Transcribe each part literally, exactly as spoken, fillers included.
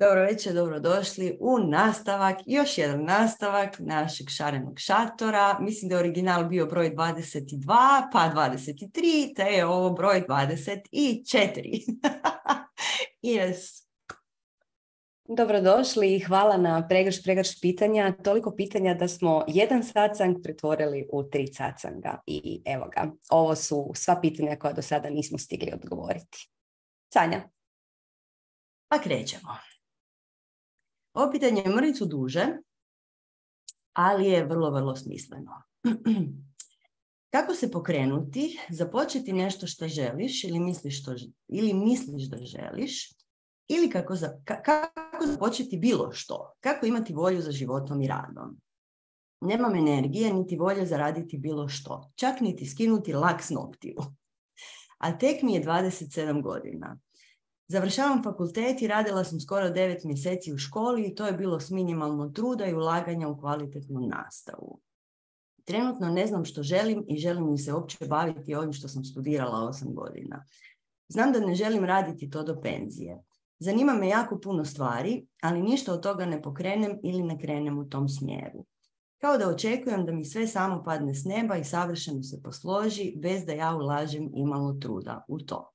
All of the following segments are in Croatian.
Dobro večer, dobrodošli u nastavak, još jedan nastavak našeg šarenog šatora. Mislim da je original bio broj dvadeset dva, pa dvadeset tri, te je ovo broj dvadeset četiri. Yes. Dobrodošli i hvala na pregrš, pregrš pitanja. Toliko pitanja da smo jedan sacang pretvorili u tri sacanga. I evo ga, ovo su sva pitanja koja do sada nismo stigli odgovoriti. Sanja. Pa krećemo. Ovo pitanje je mrvicu duže, ali je vrlo, vrlo smisleno. Kako se pokrenuti, započeti nešto što želiš ili misliš, što, ili misliš da želiš, ili kako, za, ka, kako započeti bilo što, kako imati volju za životom i radom. Nemam energije niti volje zaraditi bilo što, čak niti skinuti lak s noktiju. A tek mi je dvadeset sedam godina. Završavam fakultet i radila sam skoro devet mjeseci u školi i to je bilo s minimalno truda i ulaganja u kvalitetnu nastavu. Trenutno ne znam što želim i želim mi se uopće baviti ovim što sam studirala osam godina. Znam da ne želim raditi to do penzije. Zanima me jako puno stvari, ali ništa od toga ne pokrenem ili ne krenem u tom smjeru. Kao da očekujem da mi sve samo padne s neba i savršeno se posloži bez da ja ulažem imalo truda u to.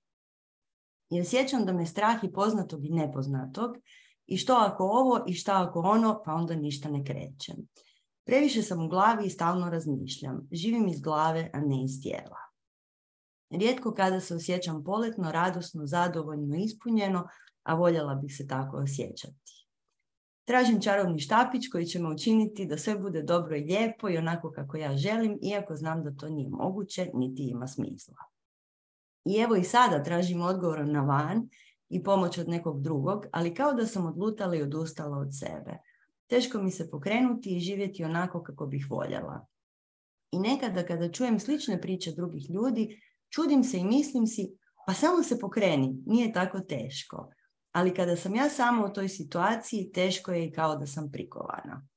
I osjećam da me strah i poznatog i nepoznatog i što ako ovo i šta ako ono, pa onda ništa ne krećem. Previše sam u glavi i stalno razmišljam. Živim iz glave, a ne iz tijela. Rijetko kada se osjećam poletno, radosno, zadovoljno, ispunjeno, a voljela bih se tako osjećati. Tražim čarobni štapić koji će me učiniti da sve bude dobro i lijepo i onako kako ja želim, iako znam da to nije moguće, niti ima smisla. I evo i sada tražim odgovor na van i pomoć od nekog drugog, ali kao da sam odlutala i odustala od sebe. Teško mi se pokrenuti i živjeti onako kako bih voljela. I nekada kada čujem slične priče drugih ljudi, čudim se i mislim si, pa samo se pokreni, nije tako teško. Ali kada sam ja sama u toj situaciji, teško je i kao da sam prikovana.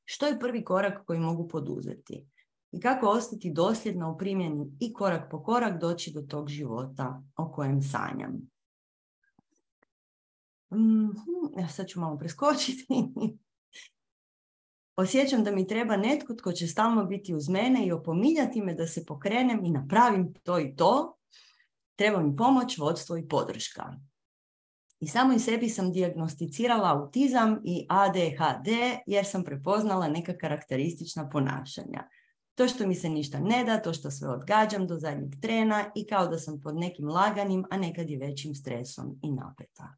Što je prvi korak koji mogu poduzeti? I kako ostati dosljedna u primjeni i korak po korak doći do tog života o kojem sanjam. Mm-hmm. Sad ću malo preskočiti. Osjećam da mi treba netko tko će stalno biti uz mene i opominjati me da se pokrenem i napravim to i to. Treba mi pomoć, vodstvo i podrška. I samo i sebi sam dijagnosticirala autizam i A D H D jer sam prepoznala neka karakteristična ponašanja. To što mi se ništa ne da, to što sve odgađam do zadnjeg trena i kao da sam pod nekim laganim, a nekad i većim stresom i napeta.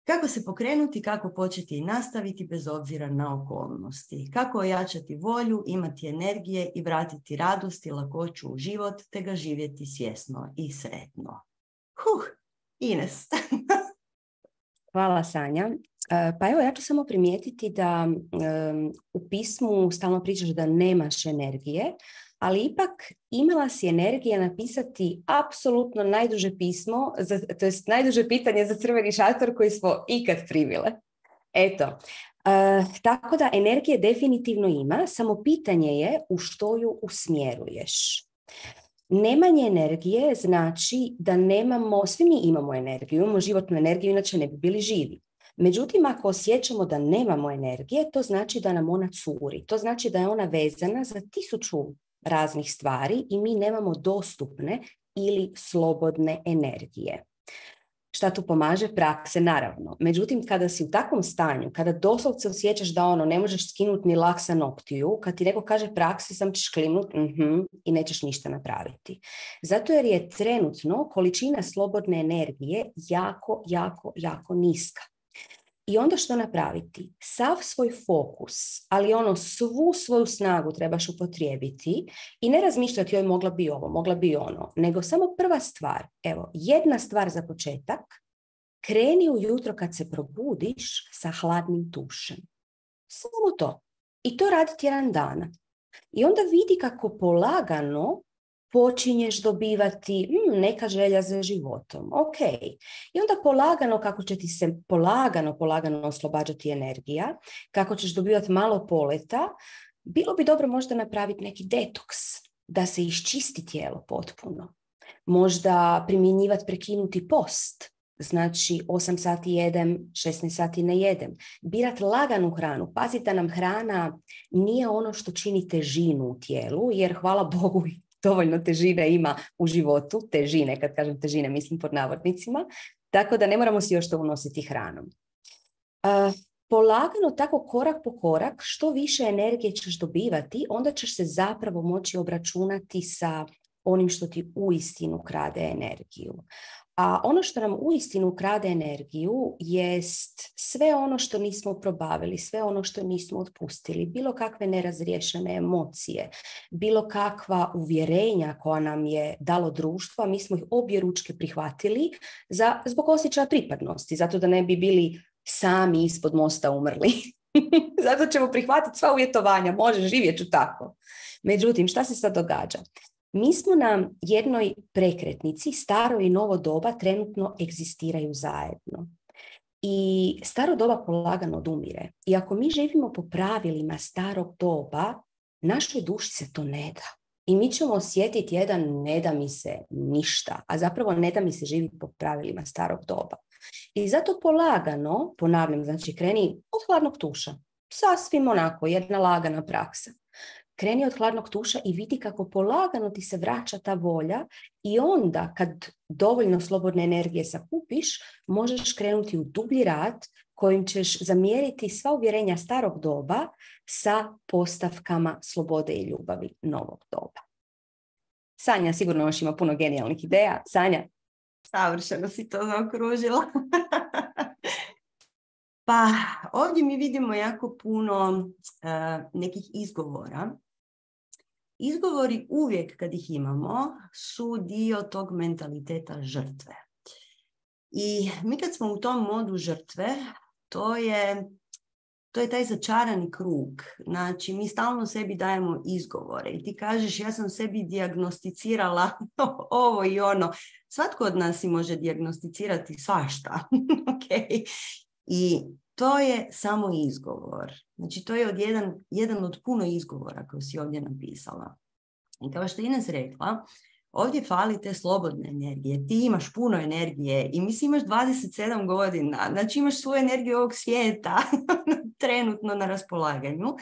Kako se pokrenuti, kako početi i nastaviti bez obzira na okolnosti. Kako ojačati volju, imati energije i vratiti radost i lakoću u život, te ga živjeti svjesno i sretno. Huh, Ines. Hvala, Sanja. Pa evo, ja ću samo primijetiti da um, u pismu stalno pričaš da nemaš energije, ali ipak imala si energije napisati apsolutno najduže pismo, za, to jest najduže pitanje za crveni šator koji smo ikad primile. Eto, uh, tako da energije definitivno ima, samo pitanje je u što ju usmjeruješ. Nemanje energije znači da nemamo, svi mi imamo energiju, imamo životnu energiju, inače ne bi bili živi. Međutim, ako osjećamo da nemamo energije, to znači da nam ona curi. To znači da je ona vezana za tisuću raznih stvari i mi nemamo dostupne ili slobodne energije. Šta tu pomaže? Prakse, naravno. Međutim, kada si u takvom stanju, kada doslovce osjećaš da ono ne možeš skinuti ni lak sa noktiju, kad ti neko kaže praksi, sam ćeš klimnuti uh-huh, i nećeš ništa napraviti. Zato jer je trenutno količina slobodne energije jako, jako, jako niska. I onda što napraviti? Sav svoj fokus, ali ono svu svoju snagu trebaš upotrijebiti i ne razmišljati joj mogla bi ovo, mogla bi ono, nego samo prva stvar, evo, jedna stvar za početak, kreni ujutro kad se probudiš sa hladnim tušem. Samo to. I to radi tjedan dana. I onda vidi kako polagano počinješ dobivati hmm, neka želja za životom. Ok. I onda polagano, kako će ti se polagano, polagano oslobađati energija, kako ćeš dobivati malo poleta, bilo bi dobro možda napraviti neki detoks, da se iščisti tijelo potpuno. Možda primjenjivati prekinuti post, znači osam sati jedem, šesnaest sati ne jedem. Birat laganu hranu. Pazite da nam hrana nije ono što čini težinu u tijelu, jer hvala Bogu dovoljno težine ima u životu. Težine, kad kažem težine, mislim pod navodnicima. Tako da ne moramo si još to unositi hranom. Uh, polagano, tako korak po korak, što više energije ćeš dobivati, onda ćeš se zapravo moći obračunati sa onim što ti uistinu krade energiju. A ono što nam uistinu krade energiju jest sve ono što nismo probavili, sve ono što nismo otpustili, bilo kakve nerazriješene emocije, bilo kakva uvjerenja koja nam je dalo društvo, mi smo ih obje ručke prihvatili za, zbog osjećaja pripadnosti, zato da ne bi bili sami ispod mosta umrli. Zato ćemo prihvatiti sva uvjetovanja, može, živjet ću tako. Međutim, šta se sad događa? Mi smo na jednoj prekretnici, staro i novo doba trenutno egzistiraju zajedno. I staro doba polagano odumire. I ako mi živimo po pravilima starog doba, našoj duši se to ne da. I mi ćemo osjetiti jedan ne da mi se ništa, a zapravo ne da mi se živi po pravilima starog doba. I zato polagano, ponavljam, znači kreni od hladnog tuša. Sasvim onako, jedna lagana praksa. Kreni od hladnog tuša i vidi kako polagano ti se vraća ta volja i onda kad dovoljno slobodne energije sakupiš, možeš krenuti u dublji rad kojim ćeš zamjeriti sva uvjerenja starog doba sa postavkama slobode i ljubavi novog doba. Sanja sigurno još ima puno genijalnih ideja. Sanja? Savršeno si to zaokružila. Pa ovdje mi vidimo jako puno uh, nekih izgovora. Izgovori uvijek kad ih imamo su dio tog mentaliteta žrtve. I mi kad smo u tom modu žrtve, to je, to je taj začarani krug. Znači, mi stalno sebi dajemo izgovore i ti kažeš ja sam sebi dijagnosticirala ovo i ono. Svatko od nas si može dijagnosticirati svašta. Okay. I to je samo izgovor. Znači, to je od jedan, jedan od puno izgovora koje si ovdje napisala. I kao što je Ines rekla, ovdje fali te slobodne energije. Ti imaš puno energije i mislim imaš dvadeset sedam godina. Znači, imaš svoju energiju ovog svijeta trenutno na raspolaganju,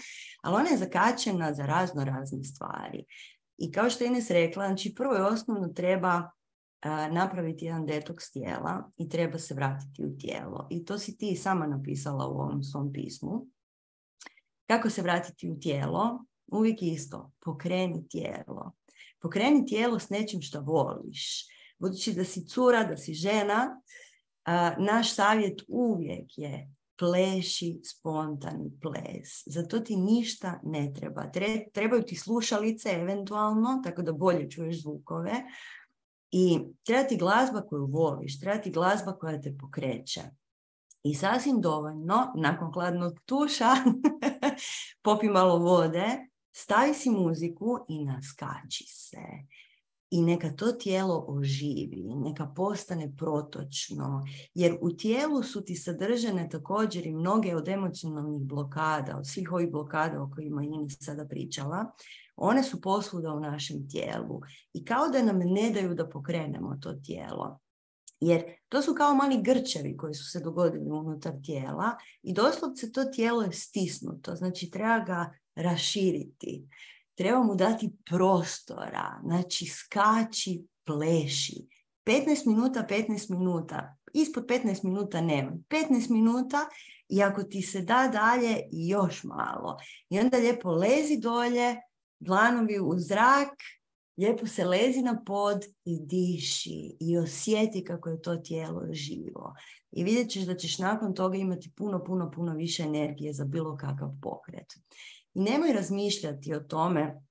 ali ona je zakačena za razno razne stvari. I kao što je Ines rekla, znači, prvo i osnovno treba napraviti jedan detoks tijela i treba se vratiti u tijelo. I to si ti sama napisala u ovom svom pismu. Kako se vratiti u tijelo? Uvijek isto. Pokreni tijelo. Pokreni tijelo s nečim što voliš. Budući da si cura, da si žena, naš savjet uvijek je pleši spontani ples. Zato ti ništa ne treba. Trebaju ti slušalice eventualno, tako da bolje čuješ zvukove. I treba ti glazba koju voliš, treba ti glazba koja te pokreće. I sasvim dovoljno, nakon hladnog tuša, popi malo vode, stavi si muziku i naskači se. I neka to tijelo oživi, neka postane protočno, jer u tijelu su ti sadržane također i mnoge od emocionalnih blokada, od svih ovih blokada o kojima Ines sada pričala. One su posvuda u našem tijelu i kao da nam ne daju da pokrenemo to tijelo. Jer to su kao mali grčevi koji su se dogodili unutar tijela i doslovce to tijelo je stisnuto, znači treba ga raširiti. Treba mu dati prostora, znači skači, pleši. petnaest minuta, petnaest minuta, ispod petnaest minuta nema. petnaest minuta i ako ti se da dalje, još malo. I onda lijepo lezi dolje, dlanovi u zrak, lijepo se lezi na pod i diši i osjeti kako je to tijelo živo. I vidjet ćeš da ćeš nakon toga imati puno, puno, puno više energije za bilo kakav pokret. I nemoj razmišljati o tome,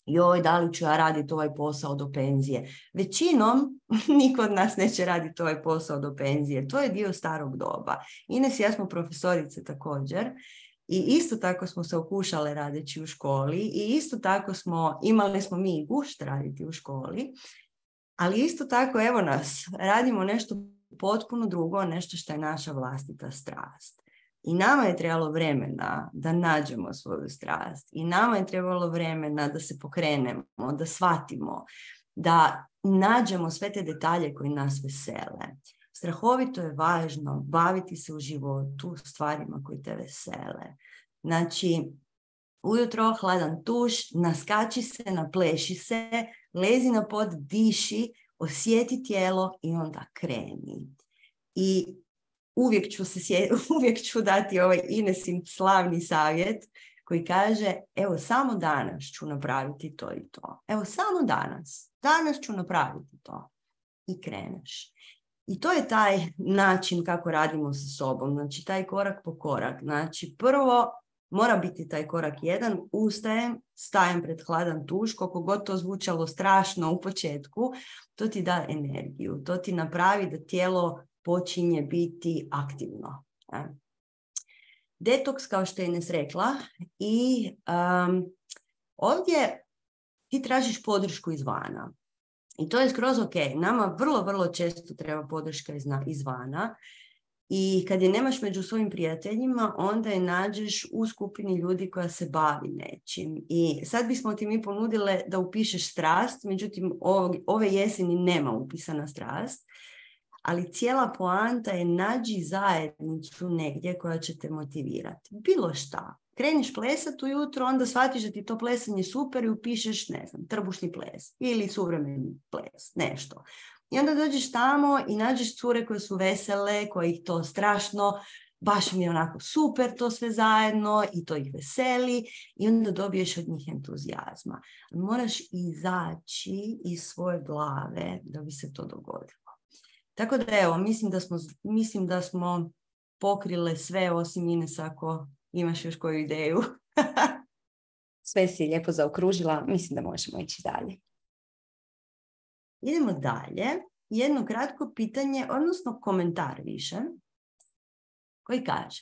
joj, da li ću ja raditi ovaj posao do penzije. Većinom, niko od nas neće raditi ovaj posao do penzije. To je dio starog doba. Ines i ja smo profesorice također. I isto tako smo se okušale radeći u školi i isto tako smo, imali smo mi i gušt raditi u školi, ali isto tako evo nas, radimo nešto potpuno drugo, nešto što je naša vlastita strast. I nama je trebalo vremena da nađemo svoju strast i nama je trebalo vremena da se pokrenemo, da shvatimo, da nađemo sve te detalje koji nas vesele. S strahovito je važno baviti se u životu stvarima koji te vesele. Znači, ujutro hladan tuš, naskači se, napleši se, lezi na pod, diši, osjeti tijelo i onda kreni. I uvijek ću, se sje, uvijek ću dati ovaj Inesin slavni savjet koji kaže, evo samo danas ću napraviti to i to. Evo samo danas. Danas ću napraviti to. I kreneš. I to je taj način kako radimo sa sobom. Znači, taj korak po korak. Znači, prvo mora biti taj korak jedan. Ustajem, stajem pred hladan tuš, koliko god to zvučalo strašno u početku, to ti da energiju. To ti napravi da tijelo počinje biti aktivno. Detoks, kao što je Ines rekla, i um, ovdje ti tražiš podršku izvana. I to je skroz ok. Nama vrlo, vrlo često treba podrška izvana. I kad je nemaš među svojim prijateljima, onda je nađeš u skupini ljudi koja se bavi nečim. I sad bismo ti mi ponudile da upišeš strast, međutim ove jeseni nema upisana strast. Ali cijela poanta je nađi zajednicu negdje koja će te motivirati. Bilo šta. Kreniš plesati ujutro, onda shvatiš da ti to plesanje super i upišeš, ne znam, trbušni ples ili suvremeni ples, nešto. I onda dođeš tamo i nađeš cure koje su vesele, koje ih to strašno, baš mi je onako super to sve zajedno i to ih veseli i onda dobiješ od njih entuzijazma. Moraš izaći iz svoje glave da bi se to dogodilo. Tako da evo, mislim da smo, mislim da smo pokrile sve osim Ines ako imaš još koju ideju. Sve si lijepo zaokružila, mislim da možemo ići dalje. Idemo dalje. Jedno kratko pitanje, odnosno komentar više, koji kaže: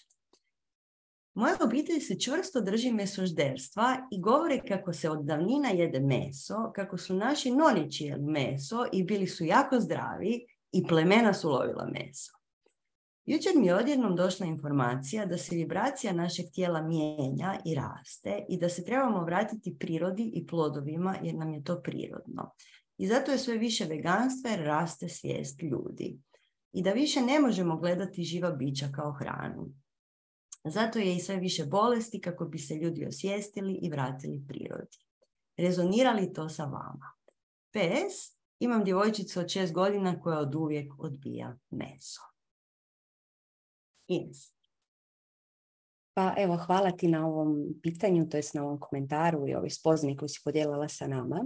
moja obitelj se čvrsto drži mesožderstva i govore kako se od davnina jede meso, kako su naši nonići jeli meso i bili su jako zdravi i plemena su lovila meso. Jučer mi je odjednom došla informacija da se vibracija našeg tijela mijenja i raste i da se trebamo vratiti prirodi i plodovima jer nam je to prirodno. I zato je sve više veganstva jer raste svijest ljudi. I da više ne možemo gledati živa bića kao hranu. Zato je i sve više bolesti kako bi se ljudi osvijestili i vratili prirodi. Rezonira li to sa vama? P S. Imam djevojčicu od šest godina koja od uvijek odbija meso. Ines. Pa evo, hvala ti na ovom pitanju, to jest na ovom komentaru i ovoj spoznaji koju si podijelila sa nama.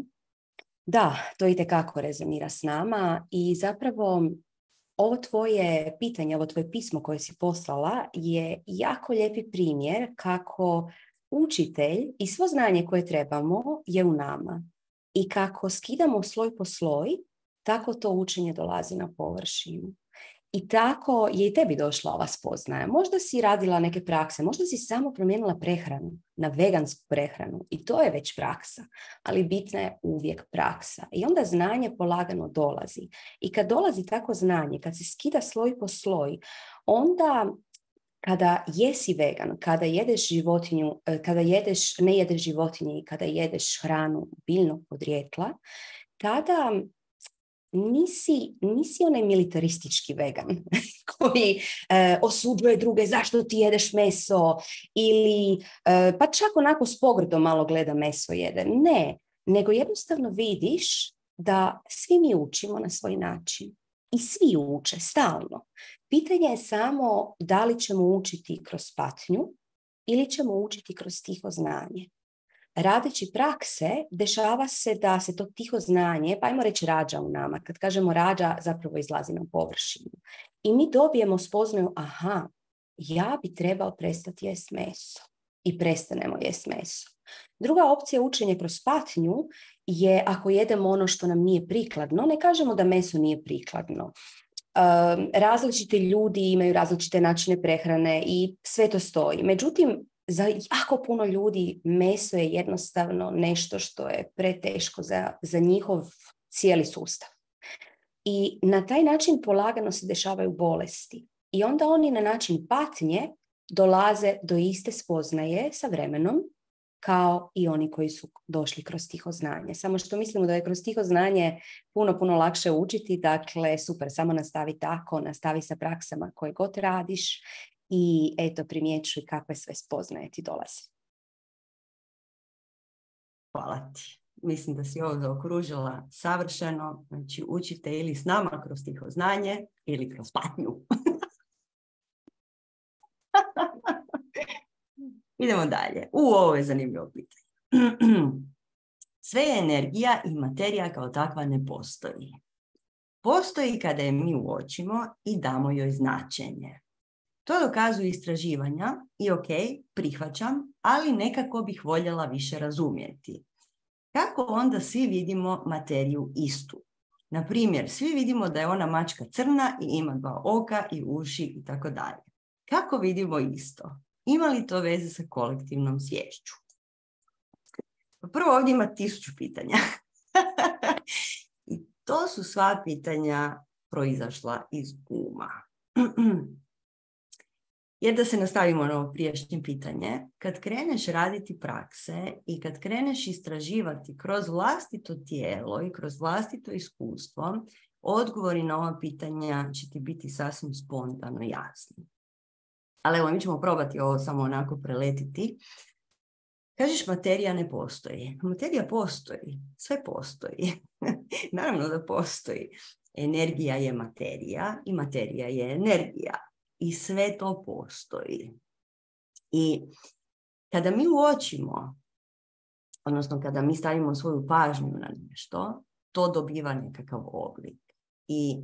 Da, to itekako rezonira s nama i zapravo ovo tvoje pitanje, ovo tvoje pismo koje si poslala je jako lijepi primjer kako učitelj i svo znanje koje trebamo je u nama. I kako skidamo sloj po sloj, tako to učenje dolazi na površinu. I tako je i tebi došla ova spoznaja. Možda si radila neke prakse, možda si samo promijenila prehranu na vegansku prehranu i to je već praksa, ali bitna je uvijek praksa. I onda znanje polagano dolazi. I kad dolazi tako znanje, kad se skida sloj po sloj, onda kada jesi vegan, kada jedeš životinju, kada jedeš, ne jedeš životinje i kada jedeš hranu biljnog podrijetla, tada nisi, nisi onaj militaristički vegan koji e, osuđuje druge zašto ti jedeš meso ili e, pa čak onako s pogrdom malo gleda meso jede. Ne, nego jednostavno vidiš da svi mi učimo na svoj način. I svi uče, stalno. Pitanje je samo da li ćemo učiti kroz patnju ili ćemo učiti kroz tiho znanje. Radeći prakse, dešava se da se to tiho znanje, pa ajmo reći rađa u nama. Kad kažemo rađa, zapravo izlazi na površinu. I mi dobijemo spoznaju, aha, ja bi trebao prestati jest meso. I prestanemo jest meso. Druga opcija učenja kroz patnju je ako jedemo ono što nam nije prikladno. Ne kažemo da meso nije prikladno. Um, različiti ljudi imaju različite načine prehrane i sve to stoji. Međutim, za jako puno ljudi meso je jednostavno nešto što je preteško za, za njihov cijeli sustav. I na taj način polagano se dešavaju bolesti. I onda oni na način patnje dolaze do iste spoznaje sa vremenom kao i oni koji su došli kroz tiho znanje. Samo što mislimo da je kroz tiho znanje puno, puno lakše učiti. Dakle, super, samo nastavi tako, nastavi sa praksama koje god radiš i eto, primjećuj kakve sve spoznaje ti dolaze. Hvala ti. Mislim da si ovo zaokružila savršeno. Znači, učite ili s nama kroz tiho znanje ili kroz patnju. Idemo dalje. U, ovo je zanimljivo pitanje. Sve je energija i materija kao takva ne postoji. Postoji kada je mi uočimo i damo joj značenje. To dokazuju istraživanja i ok, prihvaćam, ali nekako bih voljela više razumjeti. Kako onda svi vidimo materiju istu? Na primjer, svi vidimo da je ona mačka crna i ima dva oka i uši i tako dalje. Kako vidimo isto? Ima li to veze sa kolektivnom sviješću? Prvo, ovdje ima tisuću pitanja. I to su sva pitanja proizašla iz uma. Jer da se nastavimo na ovo prijašnje pitanje, kad kreneš raditi prakse i kad kreneš istraživati kroz vlastito tijelo i kroz vlastito iskustvo, odgovori na ova pitanja će ti biti sasvim spontano jasni. Ali evo, mi ćemo probati ovo samo onako preletiti. Kažeš, materija ne postoji. Materija postoji. Sve postoji. Naravno da postoji. Energija je materija i materija je energija. I sve to postoji. I kada mi uočimo, odnosno kada mi stavimo svoju pažnju na nešto, to dobiva nekakav oblik. I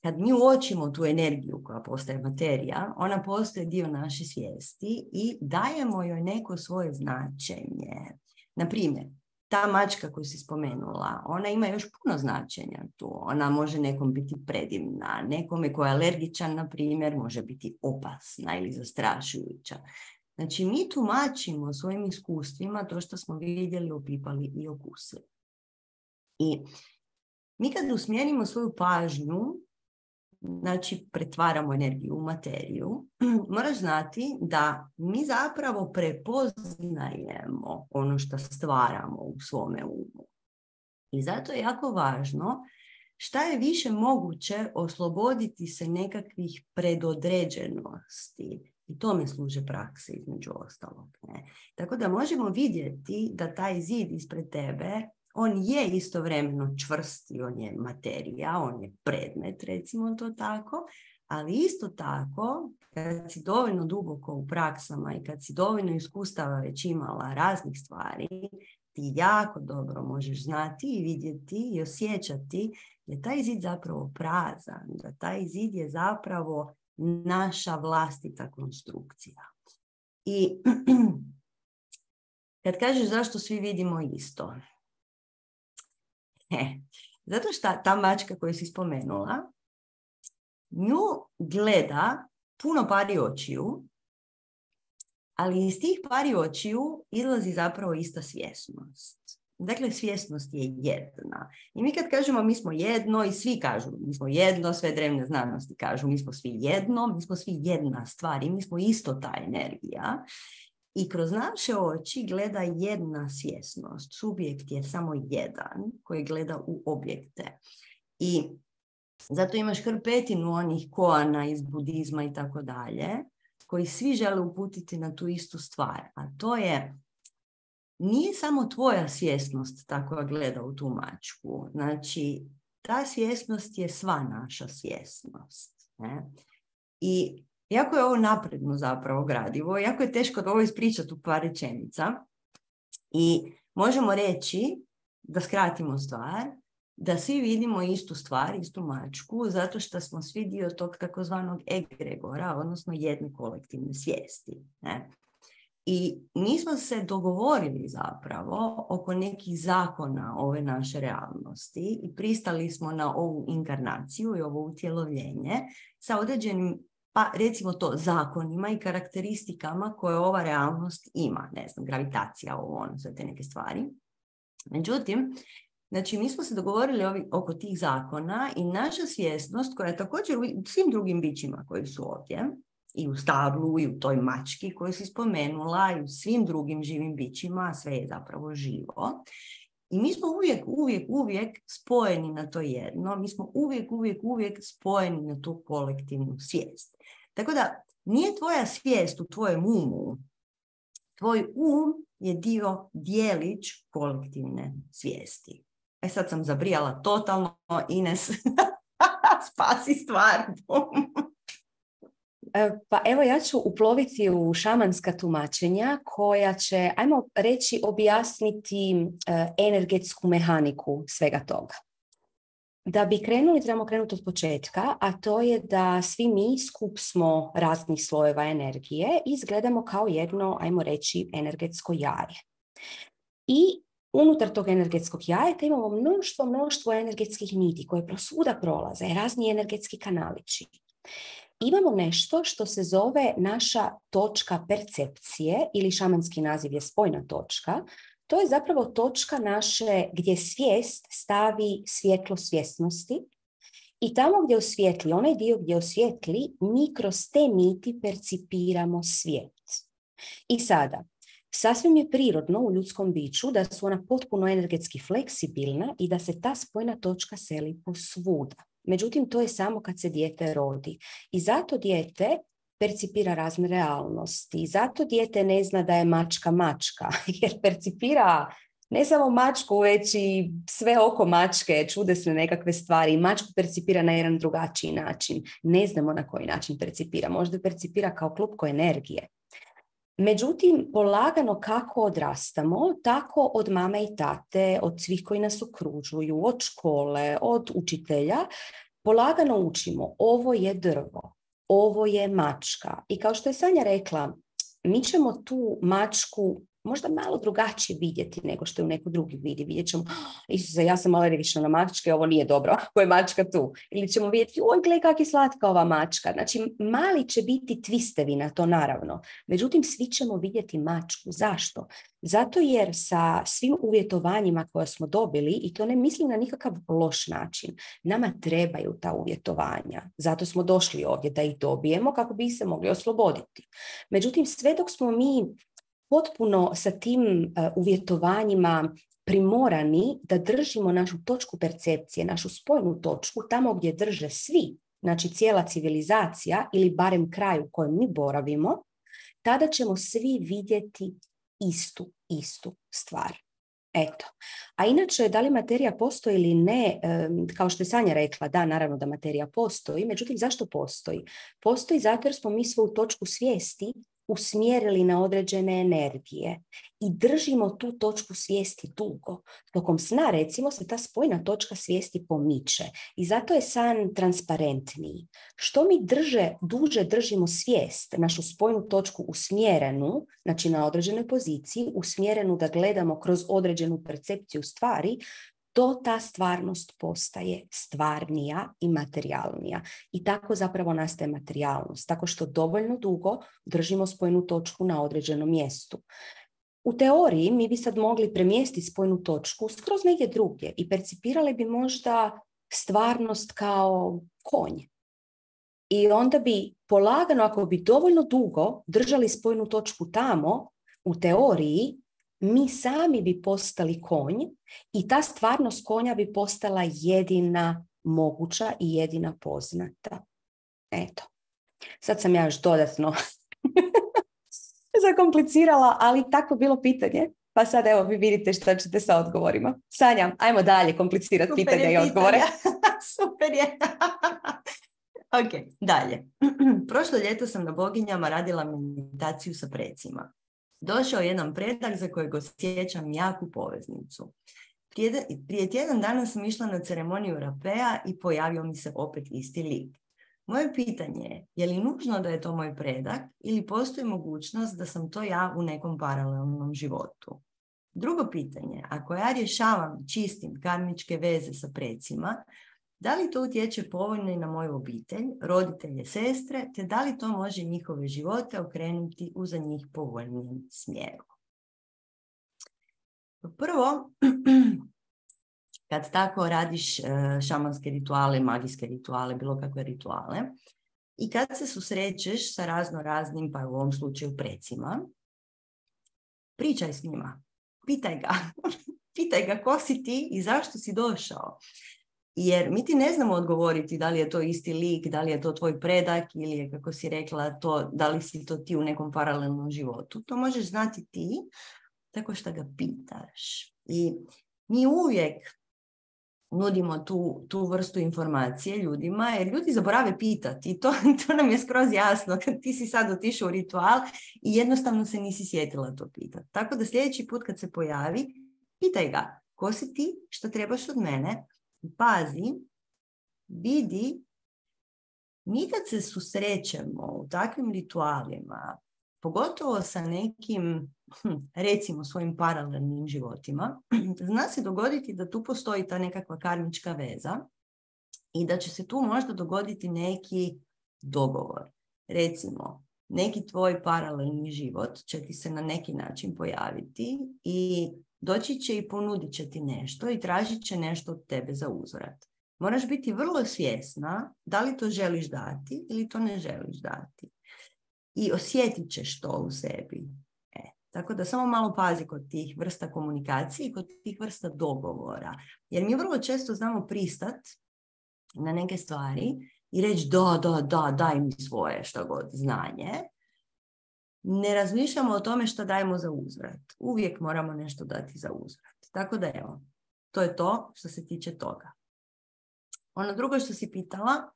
kad mi uočimo tu energiju koja postaje materija, ona postaje dio naše svijesti i dajemo joj neko svoje značenje. Na primjer, ta mačka koju si spomenula, ona ima još puno značenja tu. Ona može nekom biti predivna, nekome ko je alergičan, na primjer, može biti opasna ili zastrašujuća. Znači, mi tumačimo svojim iskustvima to što smo vidjeli, opipali i okusili. I mi kad usmjerimo svoju pažnju, znači pretvaramo energiju u materiju, moraš znati da mi zapravo prepoznajemo ono što stvaramo u svome umu. I zato je jako važno šta je više moguće osloboditi se nekakvih predodređenosti. I tome služe prakse između ostalog. Ne? Tako da možemo vidjeti da taj zid ispred tebe, on je istovremeno čvrsti, on je materija, on je predmet, recimo to tako, ali isto tako, kad si dovoljno duboko u praksama i kad si dovoljno iskustava već imala raznih stvari, ti jako dobro možeš znati i vidjeti i osjećati da je taj zid zapravo prazan, da taj zid je zapravo naša vlastita konstrukcija. I kad kažeš zašto svi vidimo isto, E, zato što ta mačka koju si spomenula, nju gleda puno pari očiju, ali iz tih pari očiju izlazi zapravo ista svjesnost. Dakle, svjesnost je jedna. I mi kad kažemo mi smo jedno i svi kažu mi smo jedno, sve drevne znanosti kažu mi smo svi jedno, mi smo svi jedna stvar i mi smo isto ta energija. I kroz naše oči gleda jedna svjesnost. Subjekt je samo jedan koji gleda u objekte. I zato imaš hrpetinu onih koana iz budizma i tako dalje, koji svi žele uputiti na tu istu stvar. A to je, nije samo tvoja svjesnost ta koja gleda u tu mačku. Znači, ta svjesnost je sva naša svjesnost. Ne? I jako je ovo napredno zapravo gradivo, jako je teško da ovo ispričati u par rečenica i možemo reći, da skratimo stvar, da svi vidimo istu stvar, istu mačku, zato što smo svi dio tog takozvanog egregora, odnosno jedne kolektivne svijesti. Ne? I nismo se dogovorili zapravo oko nekih zakona ove naše realnosti i pristali smo na ovu inkarnaciju i ovo utjelovljenje sa određenim, pa recimo to, zakonima i karakteristikama koje ova realnost ima. Ne znam, gravitacija, ovo, ono, sve te neke stvari. Međutim, znači mi smo se dogovorili ovi, oko tih zakona i naša svjesnost, koja je također u svim drugim bićima koji su ovdje, i u stablu, i u toj mački koju si spomenula, i u svim drugim živim bićima, sve je zapravo živo. I mi smo uvijek, uvijek, uvijek spojeni na to jedno. Mi smo uvijek, uvijek, uvijek spojeni na tu kolektivnu svijest. Tako da nije tvoja svijest u tvojem umu. Tvoj um je dio, dijelić kolektivne svijesti. E sad sam zabrijala totalno, Ines, spasi stvar. Pa evo ja ću uploviti u šamanska tumačenja koja će, ajmo reći, objasniti uh, energetsku mehaniku svega toga. Da bi krenuli, trebamo krenuti od početka, a to je da svi mi skup smo raznih slojeva energije i izgledamo kao jedno, ajmo reći, energetsko jaje. I unutar tog energetskog jajeta imamo mnoštvo, mnoštvo energetskih niti koje prosvuda prolaze, razni energetski kanalići. Imamo nešto što se zove naša točka percepcije ili šamanski naziv je spojna točka. To je zapravo točka naše gdje svijest stavi svjetlo svjesnosti i tamo gdje osvijetli, onaj dio gdje osvijetli, mi kroz te niti percipiramo svijet. I sada, sasvim je prirodno u ljudskom biću da su ona potpuno energetski fleksibilna i da se ta spojna točka seli posvuda. Međutim, to je samo kad se dijete rodi. I zato dijete percipira razne realnosti. Zato dijete ne zna da je mačka mačka, jer percipira ne samo mačku, već i sve oko mačke, čudesne nekakve stvari. Mačku percipira na jedan drugačiji način. Ne znamo na koji način percipira. Možda percipira kao klupko energije. Međutim, polagano kako odrastamo, tako od mame i tate, od svih koji nas okružuju, od škole, od učitelja, polagano učimo, ovo je drvo, ovo je mačka. I kao što je Sanja rekla, mi ćemo tu mačku možda malo drugačije vidjeti nego što je u neko drugi vidi. Vidjet ćemo, Isuse, ja sam alergična na mačke, ovo nije dobro, ako je mačka tu. Ili ćemo vidjeti, oj, gle, kak je slatka ova mačka. Znači, mali će biti twistevi na to, naravno. Međutim, svi ćemo vidjeti mačku. Zašto? Zato jer sa svim uvjetovanjima koje smo dobili, i to ne mislim na nikakav loš način, nama trebaju ta uvjetovanja. Zato smo došli ovdje da ih dobijemo kako bi se mogli osloboditi. Međutim, sve dok smo mi potpuno sa tim uh, uvjetovanjima primorani da držimo našu točku percepcije, našu spojnu točku, tamo gdje drže svi, znači cijela civilizacija ili barem kraj u kojem mi boravimo, tada ćemo svi vidjeti istu, istu stvar. Eto. A inače, da li materija postoji ili ne, um, kao što je Sanja rekla, da, naravno da materija postoji, međutim, zašto postoji? Postoji zato jer smo mi svoju točku svijesti usmjerili na određene energije i držimo tu točku svijesti dugo. Tokom sna, recimo, se ta spojna točka svijesti pomiče i zato je san transparentniji. Što mi drže, duže držimo svijest, našu spojnu točku usmjerenu, znači na određenoj poziciji, usmjerenu da gledamo kroz određenu percepciju stvari, to ta stvarnost postaje stvarnija i materijalnija. I tako zapravo nastaje materijalnost, tako što dovoljno dugo držimo spojnu točku na određenom mjestu. U teoriji mi bi sad mogli premjestiti spojnu točku skroz negdje drugdje i percipirali bi možda stvarnost kao konj. I onda bi polagano, ako bi dovoljno dugo držali spojnu točku tamo, u teoriji, mi sami bi postali konj i ta stvarnost konja bi postala jedina moguća i jedina poznata. Eto. Sad sam ja još dodatno zakomplicirala, ali tako bilo pitanje. Pa sad evo vi vidite što ćete sa odgovorima. Sanja, ajmo dalje komplicirati pitanja i odgovore. Super je. Ok, dalje. Prošlo ljeto sam na Boginjama radila meditaciju sa precima. Došao jedan predak za kojeg osjećam jaku poveznicu. Prije, prije tjedan dana sam išla na ceremoniju rapea i pojavio mi se opet isti lik. Moje pitanje je, je li nužno da je to moj predak ili postoji mogućnost da sam to ja u nekom paralelnom životu? Drugo pitanje, ako ja rješavam čistim karmičke veze sa precima, da li to utječe povoljno i na moju obitelj, roditelje, sestre, te da li to može njihove živote okrenuti u za njih povoljnijem smjeru? Prvo, kad tako radiš šamanske rituale, magijske rituale, bilo kakve rituale, I kad se susrećeš sa razno raznim, pa u ovom slučaju precima, pričaj s njima. Pitaj ga. Pitaj ga ko si ti i zašto si došao. Jer mi ti ne znamo odgovoriti da li je to isti lik, da li je to tvoj predak ili je, kako si rekla, to, da li si to ti u nekom paralelnom životu. To možeš znati ti tako što ga pitaš. I mi uvijek nudimo tu, tu vrstu informacije ljudima, jer ljudi zaborave pitati. I to, to nam je skroz jasno kad ti si sad otišao u ritual i jednostavno se nisi sjetila to pitati. Tako da sljedeći put kad se pojavi, pitaj ga ko si ti, što trebaš od mene. Pazi, vidi, mi kad se susrećemo u takvim ritualima, pogotovo sa nekim, recimo, svojim paralelnim životima, zna se dogoditi da tu postoji ta nekakva karmička veza i da će se tu možda dogoditi neki dogovor. Recimo, neki tvoj paralelni život će ti se na neki način pojaviti i doći će i ponudit će ti nešto i tražit će nešto od tebe za uzvrat. Moraš biti vrlo svjesna da li to želiš dati ili to ne želiš dati. I osjetit ćeš to u sebi. E, tako da samo malo pazi kod tih vrsta komunikacije i kod tih vrsta dogovora. Jer mi vrlo često znamo pristat na neke stvari i reći da, da, da, daj mi svoje što god znanje. Ne razmišljamo o tome što dajemo za uzvrat. Uvijek moramo nešto dati za uzvrat. Tako da evo, to je to što se tiče toga. Ono drugo što si pitala,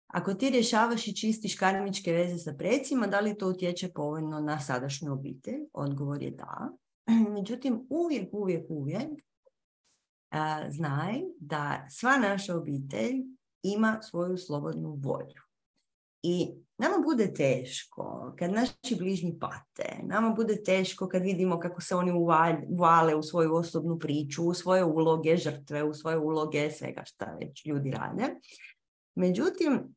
ako ti rješavaš i čistiš karmičke veze sa precima, da li to utječe povoljno na sadašnju obitelj? Odgovor je da. Međutim, uvijek, uvijek, uvijek a, znaj da sva naša obitelj ima svoju slobodnu volju. I nama bude teško kad naši bližnji pate, nama bude teško kad vidimo kako se oni uvale u svoju osobnu priču, u svoje uloge žrtve, u svoje uloge svega šta već ljudi rade. Međutim,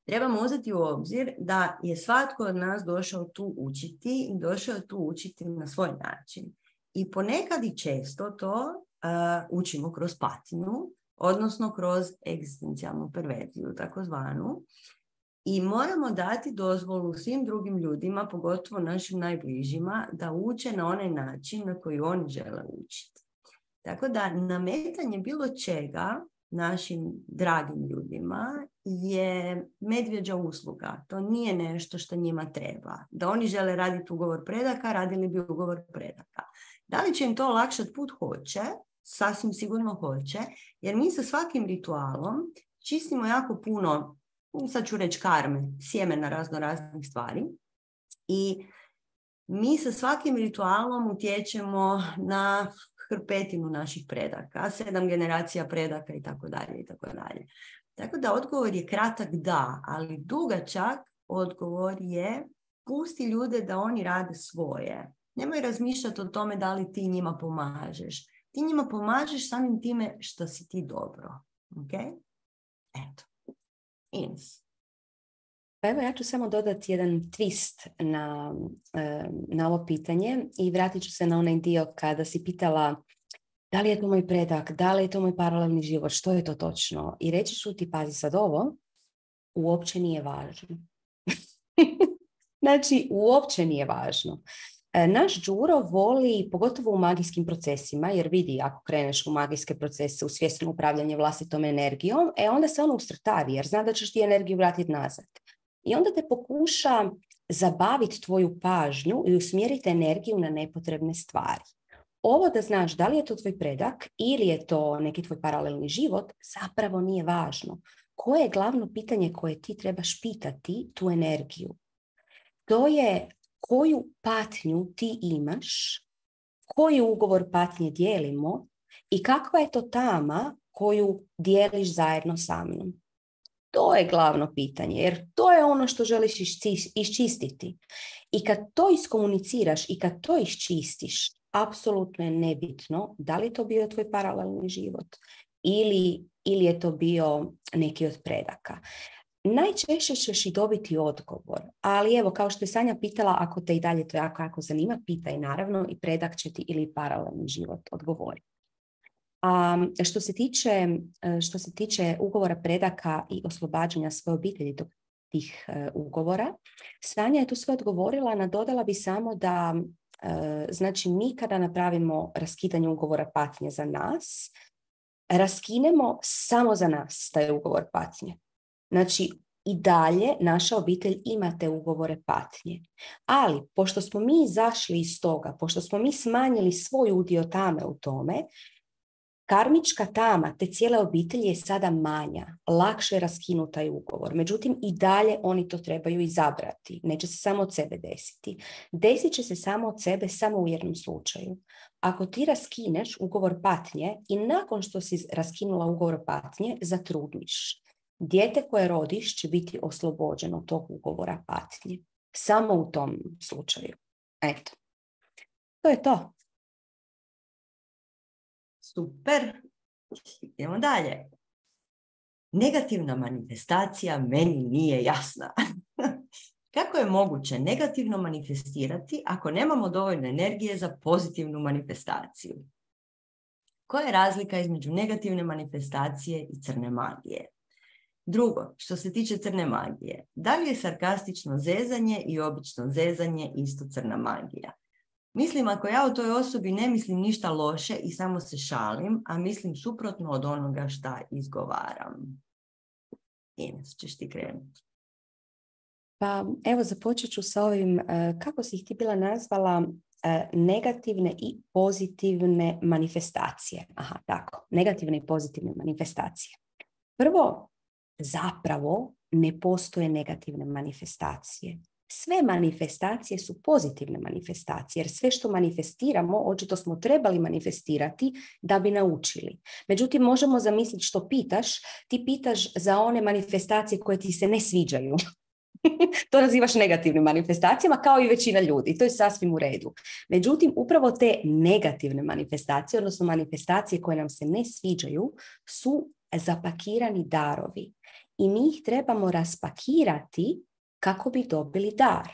trebamo uzeti u obzir da je svatko od nas došao tu učiti i došao tu učiti na svoj način. I ponekad i često to uh, učimo kroz patnju, odnosno kroz egzistencijalnu perverziju, takozvanu. I moramo dati dozvolu svim drugim ljudima, pogotovo našim najbližima, da uče na onaj način na koji oni žele učiti. Tako da nametanje bilo čega našim dragim ljudima je medvjeđa usluga. To nije nešto što njima treba. Da oni žele raditi ugovor predaka, radili bi ugovor predaka. Da li će im to olakšati put? Hoće. Sasvim sigurno hoće. Jer mi sa svakim ritualom čistimo jako puno, sad ću reći karme, sjemena razno raznih stvari. I mi sa svakim ritualom utječemo na hrpetinu naših predaka, sedam generacija predaka i tako dalje i tako dalje. Tako da odgovor je kratak da, ali dugačak odgovor je pusti ljude da oni rade svoje. Nemoj razmišljati o tome da li ti njima pomažeš. Ti njima pomažeš samim time što si ti dobro. Ok? Eto. Ines. Pa evo ja ću samo dodati jedan twist na, na ovo pitanje i vratit ću se na onaj dio kada si pitala da li je to moj predak, da li je to moj paralelni život, što je to točno. I reći ću ti, pazi sad ovo, uopće nije važno. Znači, uopće nije važno. Naš Đuro voli, pogotovo u magijskim procesima, jer vidi ako kreneš u magijske procese, u svjesno upravljanje vlastitom energijom, e onda se ono ustrtavi, jer zna da ćeš ti energiju vratiti nazad. I onda te pokuša zabaviti tvoju pažnju i usmjeriti energiju na nepotrebne stvari. Ovo da znaš da li je to tvoj predak ili je to neki tvoj paralelni život, zapravo nije važno. Koje je glavno pitanje koje ti trebaš pitati tu energiju? To je koju patnju ti imaš, koji ugovor patnje dijelimo i kakva je to tama koju dijeliš zajedno sa mnom. To je glavno pitanje, jer to je ono što želiš iščistiti. I kad to iskomuniciraš i kad to iščistiš, apsolutno je nebitno da li je to bio tvoj paralelni život ili, ili je to bio neki od predaka. Najčešće ćeš i dobiti odgovor, ali evo, kao što je Sanja pitala, ako te i dalje to jako, jako zanima, pitaj naravno i predak će ti ili paralelni život odgovoriti. A što se tiče, što se tiče ugovora predaka i oslobađanja svoje obitelji, dok tih uh, ugovora. Sanja je tu sve odgovorila, nadodala bi samo da uh, znači mi kada napravimo raskidanje ugovora patnje za nas, raskinemo samo za nas taj ugovor patnje. Znači, i dalje naša obitelj ima te ugovore patnje. Ali, pošto smo mi izašli iz toga, pošto smo mi smanjili svoj udio tame u tome, karmička tama te cijele obitelji je sada manja, lakše je raskinuti taj ugovor. Međutim, i dalje oni to trebaju izabrati. Neće se samo od sebe desiti. Desit će se samo od sebe samo u jednom slučaju. Ako ti raskineš ugovor patnje i nakon što si raskinula ugovor patnje, zatrudniš. Dijete koje rodiš će biti oslobođeno tog ugovora patnje. Samo u tom slučaju. Eto. To je to. Super. Idemo dalje. Negativna manifestacija meni nije jasna. Kako je moguće negativno manifestirati ako nemamo dovoljno energije za pozitivnu manifestaciju? Koja je razlika između negativne manifestacije i crne magije? Drugo, što se tiče crne magije, da li je sarkastično zezanje i obično zezanje isto crna magija? Mislim, ako ja o toj osobi ne mislim ništa loše i samo se šalim, a mislim suprotno od onoga šta izgovaram. Ines, ćeš ti krenuti. Pa evo započet ću sa ovim, kako si ih ti bila nazvala, negativne i pozitivne manifestacije. Aha, tako, negativne i pozitivne manifestacije. Prvo, zapravo ne postoje negativne manifestacije. Sve manifestacije su pozitivne manifestacije, jer sve što manifestiramo, očito smo trebali manifestirati da bi naučili. Međutim, možemo zamisliti što pitaš, ti pitaš za one manifestacije koje ti se ne sviđaju. To nazivaš negativnim manifestacijama, kao i većina ljudi. To je sasvim u redu. Međutim, upravo te negativne manifestacije, odnosno manifestacije koje nam se ne sviđaju, su zapakirani darovi. I mi ih trebamo raspakirati kako bi dobili dar.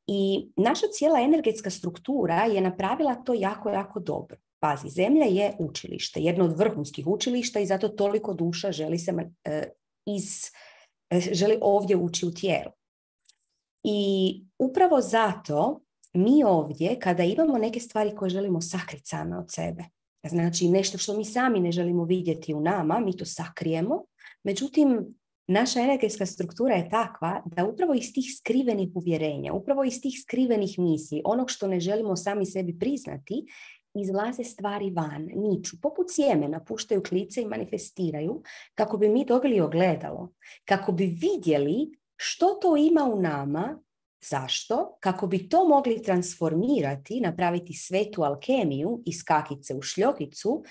I naša cijela energetska struktura je napravila to jako, jako dobro. Pazi, Zemlja je učilište, jedno od vrhunskih učilišta i zato toliko duša želi, se, uh, iz, uh, želi ovdje ući u tijelo. I upravo zato mi ovdje, kada imamo neke stvari koje želimo sakriti same od sebe, znači nešto što mi sami ne želimo vidjeti u nama, mi to sakrijemo, međutim, naša energetska struktura je takva da upravo iz tih skrivenih uvjerenja, upravo iz tih skrivenih misli, onog što ne želimo sami sebi priznati, izlaze stvari van, niču, poput sjemena, puštaju klice i manifestiraju kako bi mi dobili ogledalo, kako bi vidjeli što to ima u nama, zašto, kako bi to mogli transformirati, napraviti svetu alkemiju iz kakice u šljokicu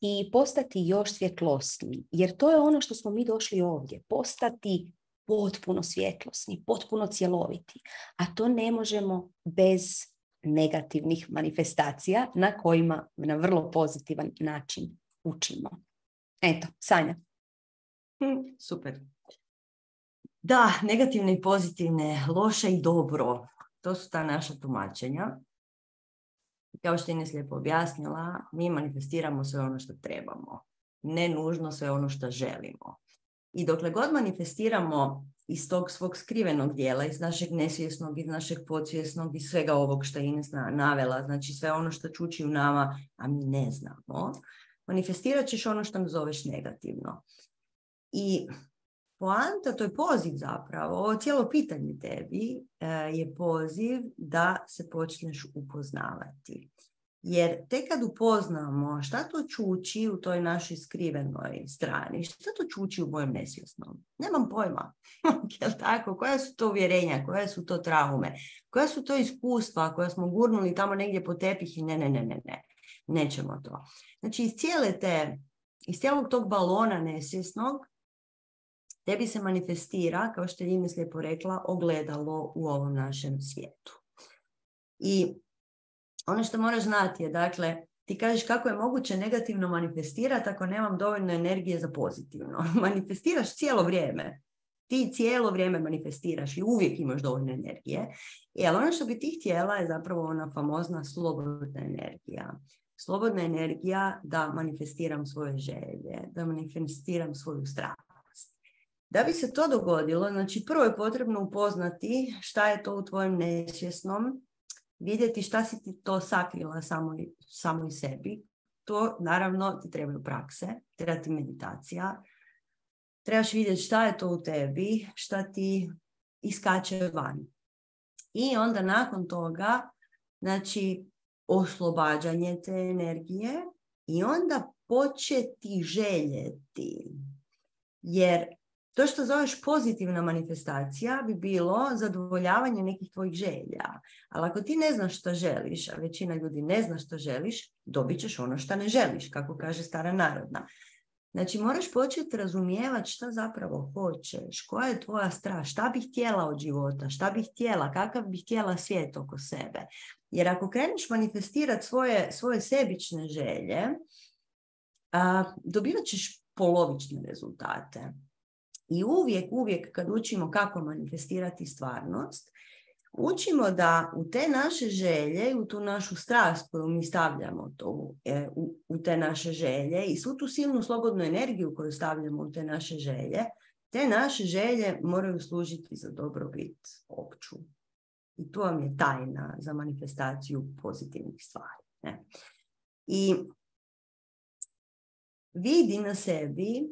i postati još svjetlosniji. Jer to je ono što smo mi došli ovdje, postati potpuno svjetlosni, potpuno cjeloviti. A to ne možemo bez negativnih manifestacija na kojima na vrlo pozitivan način učimo. Eto, Sanja. Hm, super. Da, negativne i pozitivne, loše i dobro. To su ta naša tumačenja. Kao što je Ines lijepo objasnila, mi manifestiramo sve ono što trebamo. Ne nužno sve ono što želimo. I dokle god manifestiramo iz tog svog skrivenog dijela, iz našeg nesvjesnog, iz našeg podsvjesnog, iz svega ovog što je Ines navela, znači sve ono što čuči u nama, a mi ne znamo, manifestirat ćeš ono što nazoveš negativno. I poanta, to je poziv zapravo, ovo cijelo pitanje tebi je poziv da se počneš upoznavati. Jer tek kad upoznamo šta to čuči u toj našoj skrivenoj strani, šta to čuči u mojem nesvjesnom, nemam pojma. Jel tako? Koja su to uvjerenja, koje su to traume, koja su to iskustva koja smo gurnuli tamo negdje po tepih i ne, ne, ne, ne, ne, nećemo to. Znači iz cijele te, iz cijelog tog balona nesvjesnog, tebi se manifestira, kao što je Ines lijepo rekla, ogledalo u ovom našem svijetu. I ono što moraš znati je, dakle, ti kažeš kako je moguće negativno manifestirati ako nemam dovoljno energije za pozitivno. Manifestiraš cijelo vrijeme. Ti cijelo vrijeme manifestiraš i uvijek imaš dovoljno energije. Ali ono što bi ti htjela je zapravo ona famozna slobodna energija. Slobodna energija da manifestiram svoje želje, da manifestiram svoju strah. Da bi se to dogodilo, znači prvo je potrebno upoznati šta je to u tvojem nesvjesnom, vidjeti šta si ti to sakrila samo, samo i sebi. To naravno ti trebaju prakse, treba ti meditacija, trebaš vidjeti šta je to u tebi, šta ti iskače van. I onda nakon toga, znači, oslobađanje te energije i onda početi željeti. Jer to što zoveš pozitivna manifestacija bi bilo zadovoljavanje nekih tvojih želja. Ali ako ti ne znaš što želiš, a većina ljudi ne zna što želiš, dobit ćeš ono što ne želiš, kako kaže stara narodna. Znači, moraš početi razumijevati šta zapravo hoćeš, koja je tvoja strast, šta bih htjela od života, šta bih htjela, kakav bih htjela svijet oko sebe. Jer ako kreneš manifestirati svoje, svoje sebične želje, a, dobivat ćeš polovične rezultate. I uvijek, uvijek kad učimo kako manifestirati stvarnost, učimo da u te naše želje, u tu našu strast koju mi stavljamo to, e, u, u te naše želje i svu tu silnu slobodnu energiju koju stavljamo u te naše želje, te naše želje moraju služiti za dobrobit opću. I to vam je tajna za manifestaciju pozitivnih stvari. Ne? I vidi na sebi,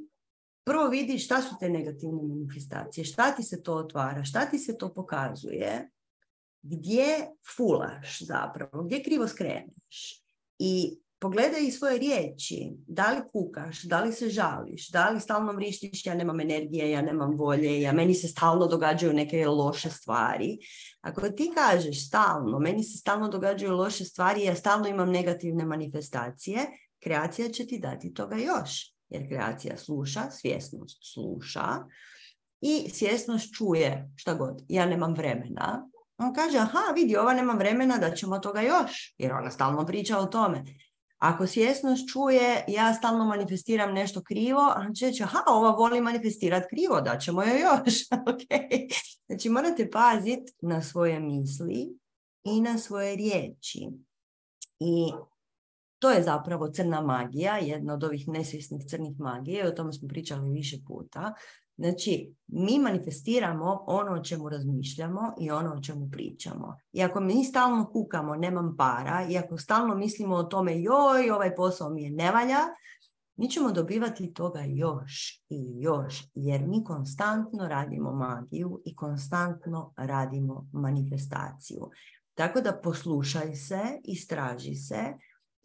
prvo vidi šta su te negativne manifestacije, šta ti se to otvara, šta ti se to pokazuje, gdje fulaš zapravo, gdje krivo skreneš. I pogledaj svoje riječi, da li kukaš, da li se žališ, da li stalno vrištiš, ja nemam energije, ja nemam volje, ja, meni se stalno događaju neke loše stvari. Ako ti kažeš stalno, meni se stalno događaju loše stvari, ja stalno imam negativne manifestacije, kreacija će ti dati toga još. Jer kreacija sluša, svjesnost sluša i svjesnost čuje šta god. Ja nemam vremena. On kaže, aha, vidi, ova nema vremena, da ćemo toga još. Jer ona stalno priča o tome. Ako svjesnost čuje, ja stalno manifestiram nešto krivo, on će reći, aha, ova voli manifestirati krivo, da ćemo joj još. Okay. Znači, morate paziti na svoje misli i na svoje riječi. I to je zapravo crna magija, jedna od ovih nesvjesnih crnih magije, o tome smo pričali više puta. Znači, mi manifestiramo ono o čemu razmišljamo i ono o čemu pričamo. I ako mi stalno kukamo, nemam para, i ako stalno mislimo o tome, joj, ovaj posao mi je ne valja, mi ćemo dobivati toga još i još, jer mi konstantno radimo magiju i konstantno radimo manifestaciju. Tako da poslušaj se, istraži se,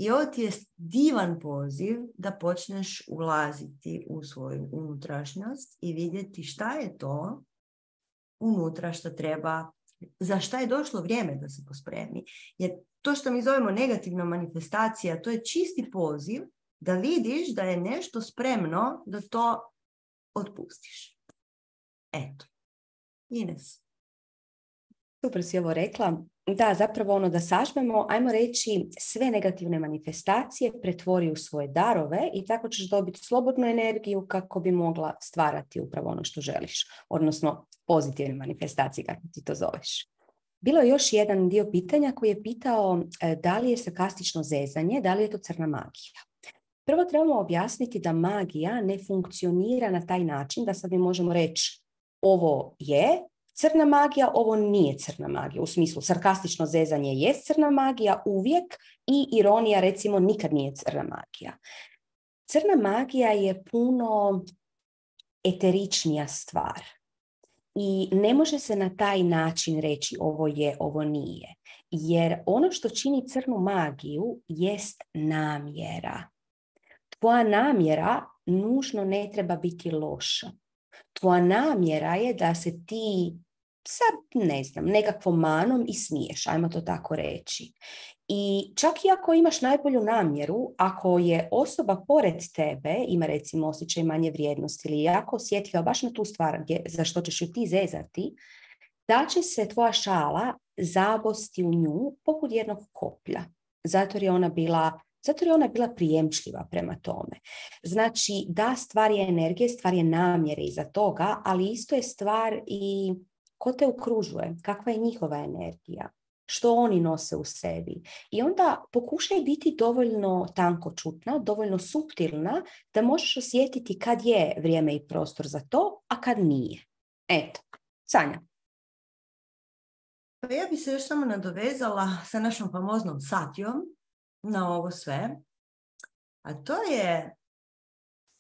i ovo ti je divan poziv da počneš ulaziti u svoju unutrašnjost i vidjeti šta je to unutra što treba, za šta je došlo vrijeme da se pospremi. Jer to što mi zovemo negativna manifestacija, to je čisti poziv da vidiš da je nešto spremno da to otpustiš. Eto. Ines. Super si ovo rekla. Da, zapravo ono da sažmemo, ajmo reći, sve negativne manifestacije pretvori u svoje darove i tako ćeš dobiti slobodnu energiju kako bi mogla stvarati upravo ono što želiš, odnosno pozitivne manifestacije, kako ti to zoveš. Bilo je još jedan dio pitanja koji je pitao da li je sarkastično zezanje, da li je to crna magija. Prvo trebamo objasniti da magija ne funkcionira na taj način da sad mi možemo reći ovo je crna magija, ovo nije crna magija. U smislu, sarkastično zezanje je crna magija uvijek i ironija, recimo, nikad nije crna magija. Crna magija je puno eteričnija stvar i ne može se na taj način reći ovo je, ovo nije. Jer ono što čini crnu magiju jest namjera. Tvoja namjera nužno ne treba biti loša. Tvoja namjera je da se ti sa, ne znam, nekakvom manom i smiješ, ajmo to tako reći. I čak i ako imaš najbolju namjeru, ako je osoba pored tebe, ima recimo osjećaj manje vrijednosti ili jako osjetljiva baš na tu stvar gdje, za što ćeš ju ti zezati, da će se tvoja šala zabosti u nju poput jednog koplja. Zato je ona bila Zato je ona bila prijemčljiva prema tome. Znači, da, stvar je energije, stvar je namjere iza toga, ali isto je stvar i ko te okružuje, kakva je njihova energija, što oni nose u sebi. I onda pokušaj biti dovoljno tankočutna, dovoljno suptilna da možeš osjetiti kad je vrijeme i prostor za to, a kad nije. Eto, Sanja. Pa ja bi se još samo nadovezala sa našom famoznom Satjom na ovo sve. A to je,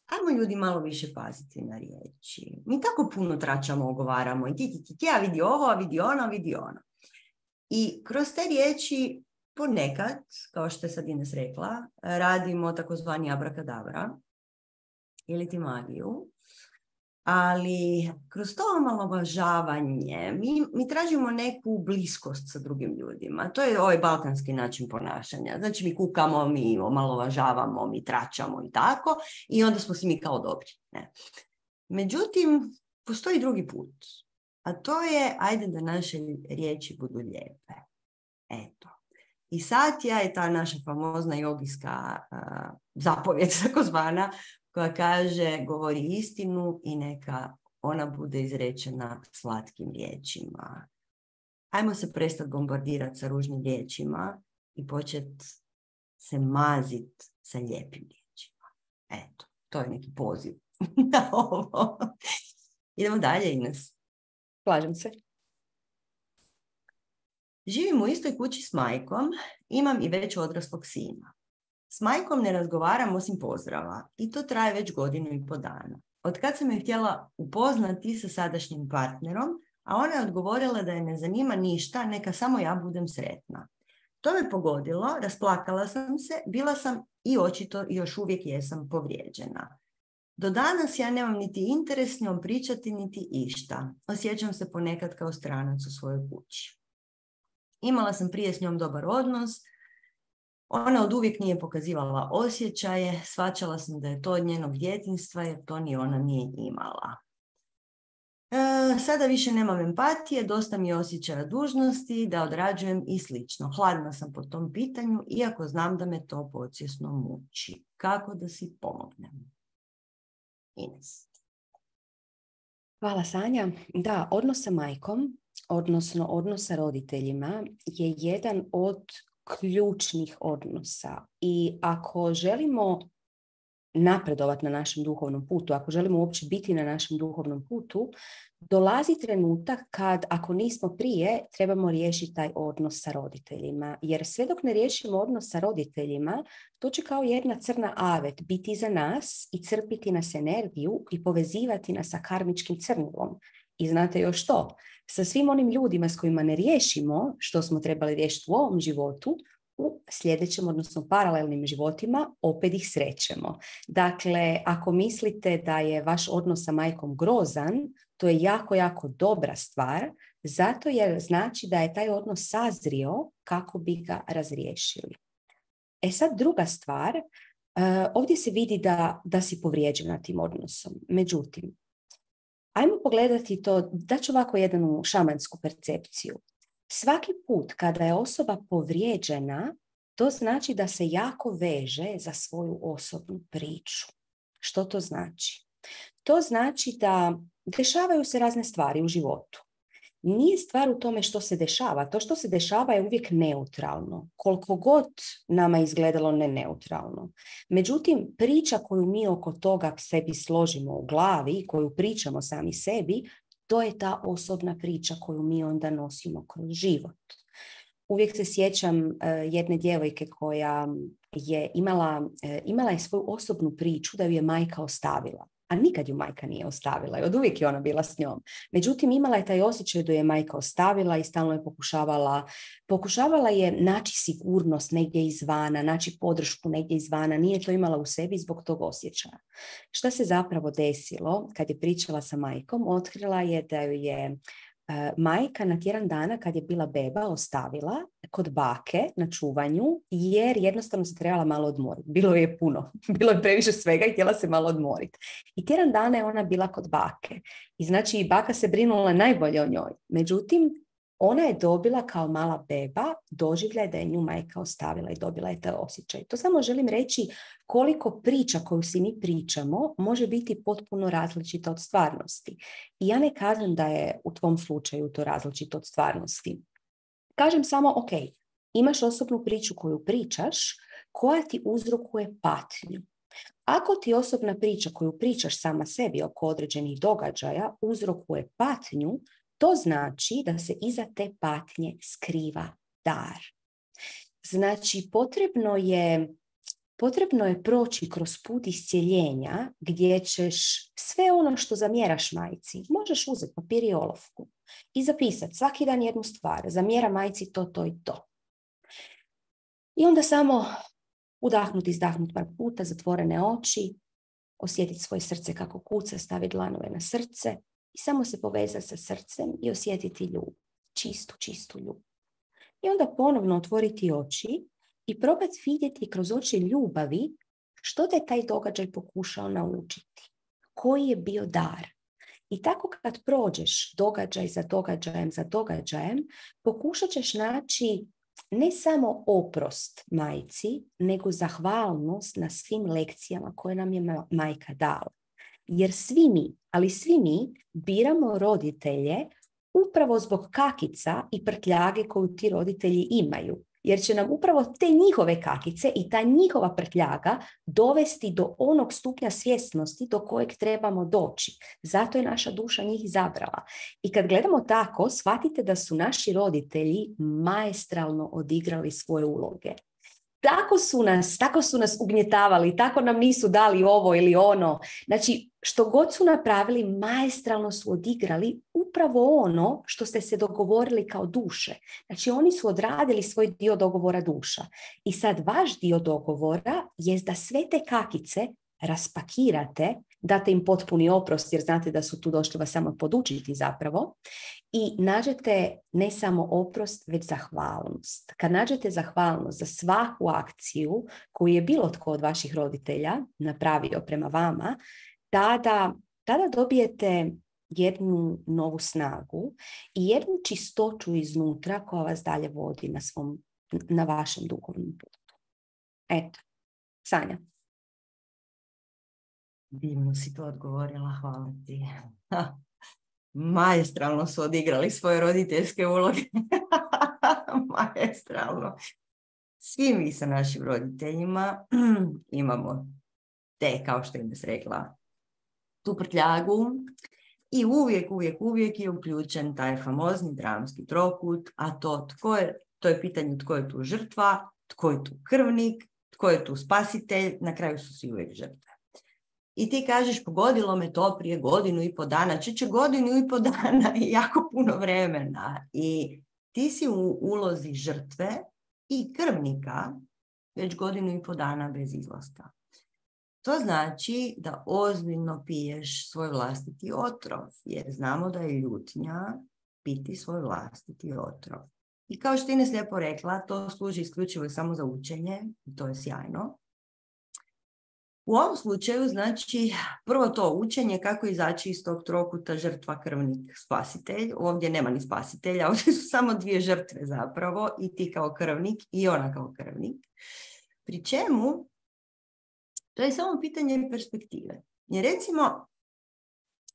ajmo ljudi malo više paziti na riječi. Mi tako puno tračamo, ogovaramo. I ti, ti, ti, ti, a vidi ovo, a vidi ono, a vidi ono. I kroz te riječi ponekad, kao što je sad Ines rekla, radimo takozvani abrakadabra ili ti magiju. Ali kroz to omalovažavanje mi, mi tražimo neku bliskost sa drugim ljudima. To je ovaj balkanski način ponašanja. Znači mi kukamo, mi omalovažavamo, mi tračamo i tako i onda smo si mi kao dobri. Ne. Međutim, postoji drugi put. A to je, ajde da naše riječi budu lijepe. Eto. I Satja je ta naša famozna jogijska uh, zapovjed, takozvana, koja kaže govori istinu i neka ona bude izrečena slatkim riječima. Ajmo se prestati bombardirati sa ružnim riječima i početi se maziti sa lijepim riječima. Eto, to je neki poziv na ovo. Idemo dalje, Ines. Slažem se. Živim u istoj kući s majkom, imam i već odraslog sina. S majkom ne razgovaram osim pozdrava i to traje već godinu i po dana. Od kad sam je htjela upoznati sa sadašnjim partnerom, a ona je odgovorila da je ne zanima ništa, neka samo ja budem sretna. To me pogodilo, rasplakala sam se, bila sam i očito još uvijek jesam povrijeđena. Do danas ja nemam niti interes s njom pričati, niti išta. Osjećam se ponekad kao stranac u svojoj kući. Imala sam prije s njom dobar odnos, ona od uvijek nije pokazivala osjećaje, shvaćala sam da je to od njenog djetinjstva jer to ni ona nije imala. E, sada više nemam empatije, dosta mi je osjećaja dužnosti, da odrađujem i slično. Hladna sam po tom pitanju, iako znam da me to podsvjesno muči. Kako da si pomognem? Ines. Hvala, Sanja. Da, odnos sa majkom, odnosno odnos sa roditeljima je jedan od ključnih odnosa i ako želimo napredovati na našem duhovnom putu, ako želimo uopće biti na našem duhovnom putu, dolazi trenutak kad, ako nismo prije, trebamo riješiti taj odnos sa roditeljima. Jer sve dok ne riješimo odnos sa roditeljima, to će kao jedna crna avet biti za nas i crpiti nas energiju i povezivati nas sa karmičkim crnilom. I znate još što? Sa svim onim ljudima s kojima ne riješimo što smo trebali riješiti u ovom životu, u sljedećem, odnosno paralelnim životima, opet ih srećemo. Dakle, ako mislite da je vaš odnos sa majkom grozan, to je jako, jako dobra stvar, zato jer znači da je taj odnos sazrio kako bi ga razriješili. E sad druga stvar, ovdje se vidi da, da si povrijeđena tim odnosom. Međutim, ajmo pogledati to, daću ovako jednu šamansku percepciju. Svaki put kada je osoba povrijeđena, to znači da se jako veže za svoju osobnu priču. Što to znači? To znači da dešavaju se razne stvari u životu. Nije stvar u tome što se dešava. To što se dešava je uvijek neutralno. Koliko god nama izgledalo ne neutralno. Međutim, priča koju mi oko toga sebi složimo u glavi, koju pričamo sami sebi, to je ta osobna priča koju mi onda nosimo kroz život. Uvijek se sjećam uh, jedne djevojke koja je imala, uh, imala je svoju osobnu priču da ju je majka ostavila. A nikad ju majka nije ostavila i od uvijek je ona bila s njom. Međutim, imala je taj osjećaj da ju je majka ostavila i stalno je pokušavala, pokušavala je naći sigurnost negdje izvana, naći podršku negdje izvana. Nije to imala u sebi zbog tog osjećaja. Šta se zapravo desilo kad je pričala sa majkom? Otkrila je da ju je majka na tjedan dana kad je bila beba ostavila kod bake na čuvanju jer jednostavno se trebala malo odmoriti. Bilo je puno, bilo je previše svega i htjela se malo odmoriti. I tjedan dana je ona bila kod bake. I znači baka se brinula najbolje o njoj. Međutim, ona je dobila kao mala beba doživljaj da je nju majka ostavila i dobila je taj osjećaj. To samo želim reći koliko priča koju si mi pričamo može biti potpuno različita od stvarnosti. I ja ne kažem da je u tvom slučaju to različito od stvarnosti. kažem samo, ok, imaš osobnu priču koju pričaš, koja ti uzrokuje patnju. Ako ti osobna priča koju pričaš sama sebi oko određenih događaja uzrokuje patnju, to znači da se iza te patnje skriva dar. Znači, potrebno je, potrebno je proći kroz put iscjeljenja gdje ćeš sve ono što zamjeraš majci, možeš uzeti papir i olovku i zapisati svaki dan jednu stvar, zamjera majci to, to i to. I onda samo udahnuti, izdahnuti par puta, zatvorene oči, osjetiti svoje srce kako kuca, staviti dlanove na srce i samo se povezati sa srcem i osjetiti ljubav, čistu, čistu ljubav. I onda ponovno otvoriti oči i probati vidjeti kroz oči ljubavi što te taj događaj pokušao naučiti. Koji je bio dar. I tako kad prođeš događaj za događajem za događajem, pokušat ćeš naći ne samo oprost majci, nego zahvalnost na svim lekcijama koje nam je majka dala. Jer svi mi, ali svi mi biramo roditelje upravo zbog kakica i prtljage koju ti roditelji imaju. Jer će nam upravo te njihove kakice i ta njihova prtljaga dovesti do onog stupnja svjesnosti do kojeg trebamo doći. Zato je naša duša njih izabrala. I kad gledamo tako, shvatite da su naši roditelji maestralno odigrali svoje uloge. Tako su nas, tako su nas ugnjetavali, tako nam nisu dali ovo ili ono. Znači, što god su napravili, maestralno su odigrali upravo ono što ste se dogovorili kao duše. Znači, oni su odradili svoj dio dogovora duša. I sad vaš dio dogovora je da sve te kakice raspakirate, date im potpuni oprost jer znate da su tu došli vas samo podučiti zapravo i nađete ne samo oprost, već zahvalnost. Kad nađete zahvalnost za svaku akciju koju je bilo tko od vaših roditelja napravio prema vama, tada, tada dobijete jednu novu snagu i jednu čistoću iznutra koja vas dalje vodi na, svom, na vašem duhovnom putu. Eto, Sanja. Divno si to odgovorila, hvala ti. Maestralno su odigrali svoje roditeljske uloge. Maestralno. Svi mi sa našim roditeljima imamo te, kao što im se rekla, tu prtljagu i uvijek, uvijek, uvijek je uključen taj famozni dramski trokut, a to, tko je, to je pitanje tko je tu žrtva, tko je tu krvnik, tko je tu spasitelj, na kraju su svi uvijek žrtve. I ti kažeš, pogodilo me to prije godinu i po dana, čeće godinu i po dana i jako puno vremena. I ti si u ulozi žrtve i krvnika već godinu i po dana bez izlaska. To znači da ozbiljno piješ svoj vlastiti otrov, jer znamo da je ljutnja piti svoj vlastiti otrov. I kao što Ines lijepo rekla, to služi isključivo samo za učenje, i to je sjajno. U ovom slučaju, znači, prvo to učenje kako izaći iz tog trokuta žrtva, krvnik, spasitelj. Ovdje nema ni spasitelja, ovdje su samo dvije žrtve zapravo, i ti kao krvnik i ona kao krvnik. Pri čemu, to je samo pitanje perspektive. Jer recimo,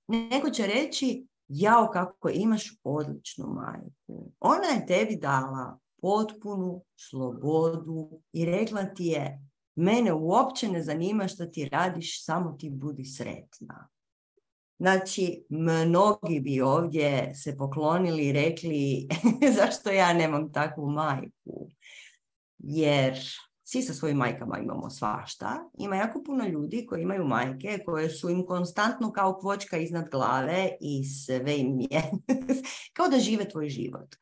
neko će reći, jao kako imaš odličnu majku. Ona je tebi dala potpunu slobodu i rekla ti je, mene uopće ne zanima što ti radiš, samo ti budi sretna. Znači, mnogi bi ovdje se poklonili i rekli zašto ja nemam takvu majku. Jer svi sa svojim majkama imamo svašta. Ima jako puno ljudi koji imaju majke koje su im konstantno kao kvočka iznad glave i sve im je kao da žive tvoj život.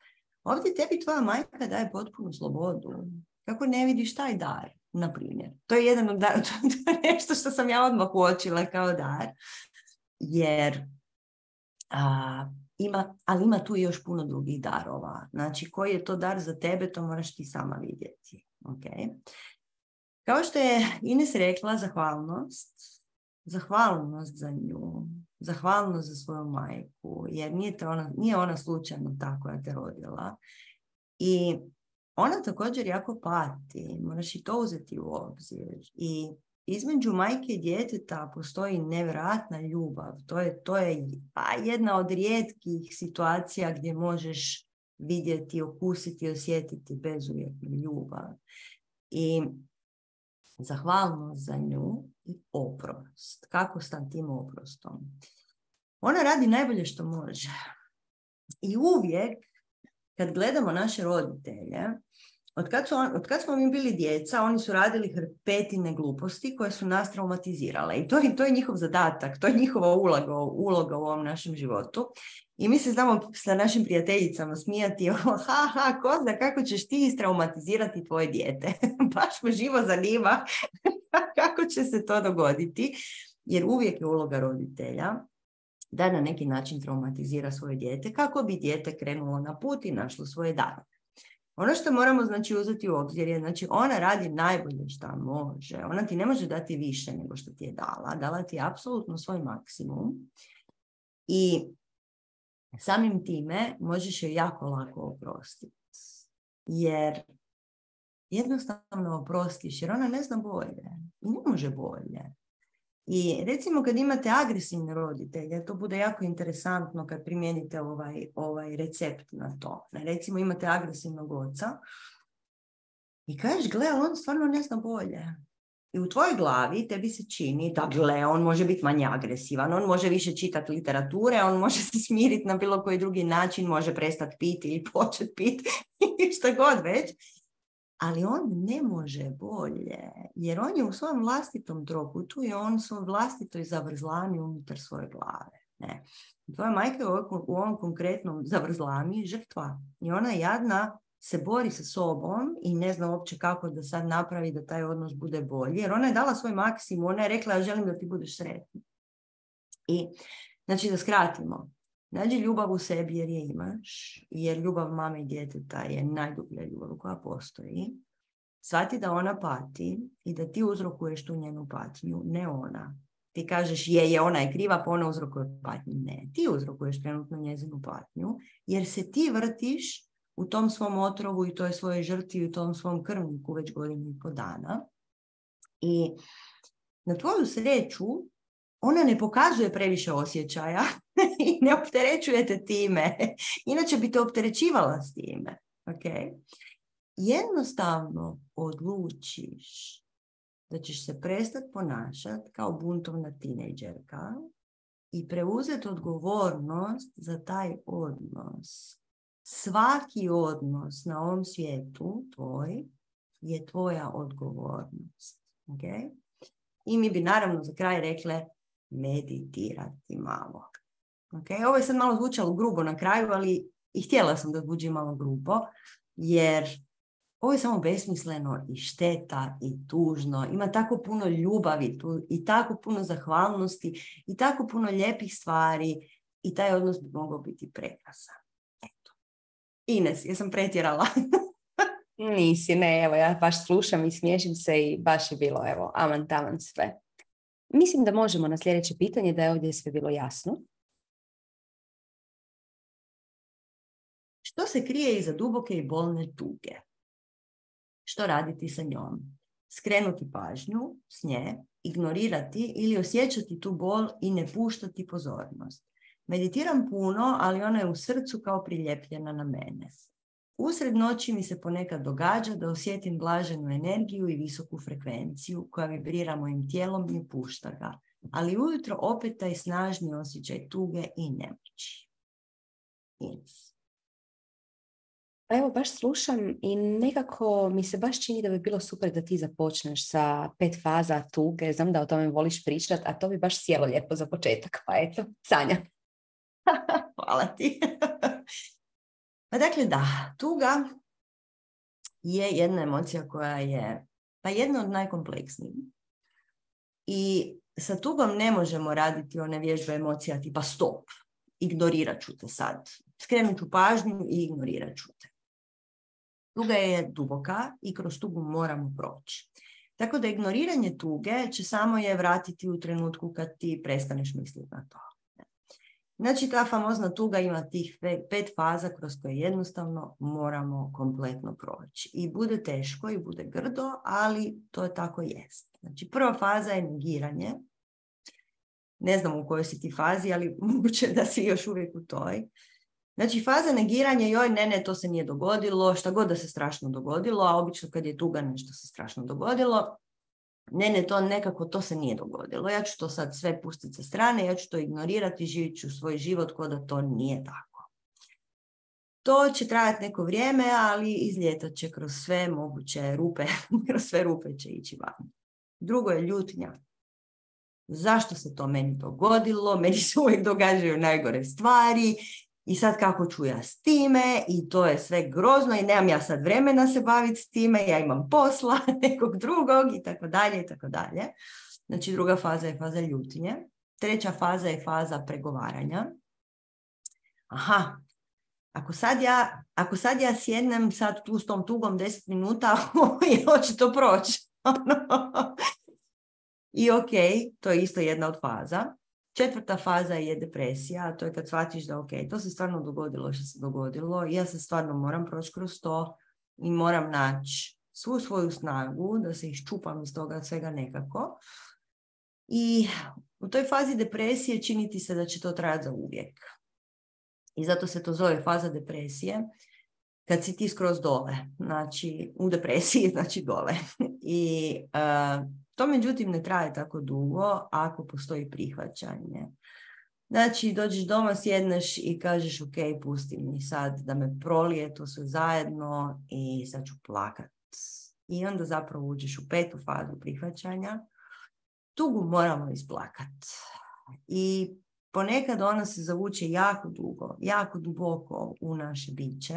Ovdje tebi tvoja majka daje potpunu slobodu. Kako ne vidiš taj dar? Na primjer. To je jedan od dar, to je nešto što sam ja odmah uočila kao dar. Jer a, ima, ali ima tu još puno drugih darova. Znači, koji je to dar za tebe, to moraš ti sama vidjeti. Okay. Kao što je Ines rekla, zahvalnost. Zahvalnost za nju. Zahvalnost za svoju majku. Jer nije, te ona, nije ona slučajno ta koja te rodila. I ona također jako pati, moraš i to uzeti u obzir. I između majke i djeteta postoji nevjerojatna ljubav. To je, to je pa, jedna od rijetkih situacija gdje možeš vidjeti, okusiti, osjetiti bezuvjetnu ljubav. I zahvalnost za nju i oprost. Kako s tim oprostom? Ona radi najbolje što može. I uvijek, kad gledamo naše roditelje, od kad, su on, od kad smo mi bili djeca, oni su radili hrpetine gluposti koje su nas traumatizirale. I to, to je njihov zadatak, to je njihova uloga, uloga u ovom našem životu. I mi se znamo sa našim prijateljicama smijati, ha, ha, ko zna kako ćeš ti istraumatizirati tvoje dijete. Baš me živo zanima kako će se to dogoditi, jer uvijek je uloga roditelja da na neki način traumatizira svoje dijete kako bi dijete krenulo na put i našlo svoje dane. Ono što moramo znači uzeti u obzir je, znači ona radi najbolje što može. Ona ti ne može dati više nego što ti je dala. Dala ti je apsolutno svoj maksimum i samim time možeš je jako lako oprostiti. Jer jednostavno oprostiš, jer ona ne zna bolje. I ne može bolje. I recimo kad imate agresivne roditelje, to bude jako interesantno kad primijenite ovaj, ovaj recept na to. Recimo imate agresivnog oca i kažeš, gle, on stvarno ne zna bolje. I u tvojoj glavi tebi se čini da, gle, on može biti manje agresivan, on može više čitati literature, on može se smiriti na bilo koji drugi način, može prestati piti ili početi piti i šta god već. Ali on ne može bolje, jer on je u svom vlastitom trokutu i on u svom vlastitoj zavrzlami unutar svoje glave. Ne. Tvoja majka je u ovom konkretnom zavrzlami žrtva i ona jadna se bori sa sobom i ne zna uopće kako da sad napravi da taj odnos bude bolji, jer ona je dala svoj maksimum, ona je rekla ja želim da ti budeš sretna. I znači da skratimo. Nađi ljubav u sebi jer je imaš, jer ljubav mame i djeteta je najdublja ljubav koja postoji. Shvati da ona pati i da ti uzrokuješ tu njenu patnju, ne ona. Ti kažeš je, je, ona je kriva, pa ona uzrokuje patnju. Ne, ti uzrokuješ trenutno njezinu patnju, jer se ti vrtiš u tom svom otrovu i toj svojoj žrtvi i u tom svom krvniku već godinu i po dana. I na tvoju sreću ona ne pokazuje previše osjećaja i ne opterećuje te time. Inače bi te opterećivala s time. Okay? Jednostavno odlučiš da ćeš se prestati ponašati kao buntovna tinejdžerka i preuzeti odgovornost za taj odnos. Svaki odnos na ovom svijetu tvoj je tvoja odgovornost. Okay? I mi bi naravno za kraj rekle meditirati malo. Okay? Ovo je sad malo zvučalo grubo na kraju, ali i htjela sam da zvuči malo grubo, jer ovo je samo besmisleno i šteta i tužno. Ima tako puno ljubavi tu i tako puno zahvalnosti i tako puno lijepih stvari i taj odnos bi mogao biti prekrasan. Eto. Ines, jesam pretjerala? Nisi, ne, evo ja baš slušam i smiješim se i baš je bilo, evo, aman taman sve. Mislim da možemo na sljedeće pitanje, da je ovdje sve bilo jasno. Što se krije iza duboke i bolne tuge? Što raditi sa njom? Skrenuti pažnju s nje, ignorirati ili osjećati tu bol i ne puštati pozornost. Meditiram puno, ali ona je u srcu kao priljepljena na mene. Usred noći mi se ponekad događa da osjetim blaženu energiju i visoku frekvenciju koja vibrira mojim tijelom i pušta ga, ali ujutro opet taj snažni osjećaj tuge i nemoći. Ines. Pa evo, baš slušam i nekako mi se baš čini da bi bilo super da ti započneš sa pet faza tuge. Znam da o tome voliš pričati, a to bi baš sjelo lijepo za početak. Pa eto, Sanja. Hvala ti. Pa dakle da, tuga je jedna emocija koja je pa jedna od najkompleksnijih. I sa tugom ne možemo raditi one vježbe emocija tipa stop, ignorirat ću te sad. Skrenut ću pažnju i ignorirat ću te. Tuga je duboka i kroz tugu moramo proći. Tako da ignoriranje tuge će samo je vratiti u trenutku kad ti prestaneš misliti na to. Znači ta famozna tuga ima tih pet faza kroz koje jednostavno moramo kompletno proći. I bude teško i bude grdo, ali to je tako jest. Znači prva faza je negiranje. Ne znam u kojoj si ti fazi, ali moguće da si još uvijek u toj. Znači, faza negiranja, joj, ne, ne, to se nije dogodilo, šta god da se strašno dogodilo, a obično kad je tuga nešto se strašno dogodilo, ne, ne, to nekako, to se nije dogodilo. Ja ću to sad sve pustiti sa strane, ja ću to ignorirati, živit ću svoj život kao da to nije tako. To će trajati neko vrijeme, ali izljetat će kroz sve moguće rupe, kroz sve rupe će ići van. Drugo je ljutnja. Zašto se to meni dogodilo? Meni se uvijek događaju najgore stvari i sad kako ću ja s time i to je sve grozno i nemam ja sad vremena se baviti s time, ja imam posla nekog drugog i tako dalje i tako dalje. Znači druga faza je faza ljutnje. Treća faza je faza pregovaranja. Aha, ako sad ja, ako sad ja sjednem sad tu s tom tugom deset minuta, hoće to proći. I ok, to je isto jedna od faza. Četvrta faza je depresija, a to je kad shvatiš da ok, to se stvarno dogodilo što se dogodilo i ja se stvarno moram proći kroz to i moram naći svu svoju snagu da se iščupam iz toga svega nekako. I u toj fazi depresije čini ti se da će to trajati za uvijek. I zato se to zove faza depresije. Kad si ti skroz dole, znači u depresiji, znači dole. I uh, to međutim ne traje tako dugo ako postoji prihvaćanje. Znači dođeš doma, sjedneš i kažeš ok, pusti mi sad da me prolije to sve zajedno i sad ću plakat. I onda zapravo uđeš u petu fazu prihvaćanja. Tugu moramo isplakat. I ponekad ona se zavuče jako dugo, jako duboko u naše biće.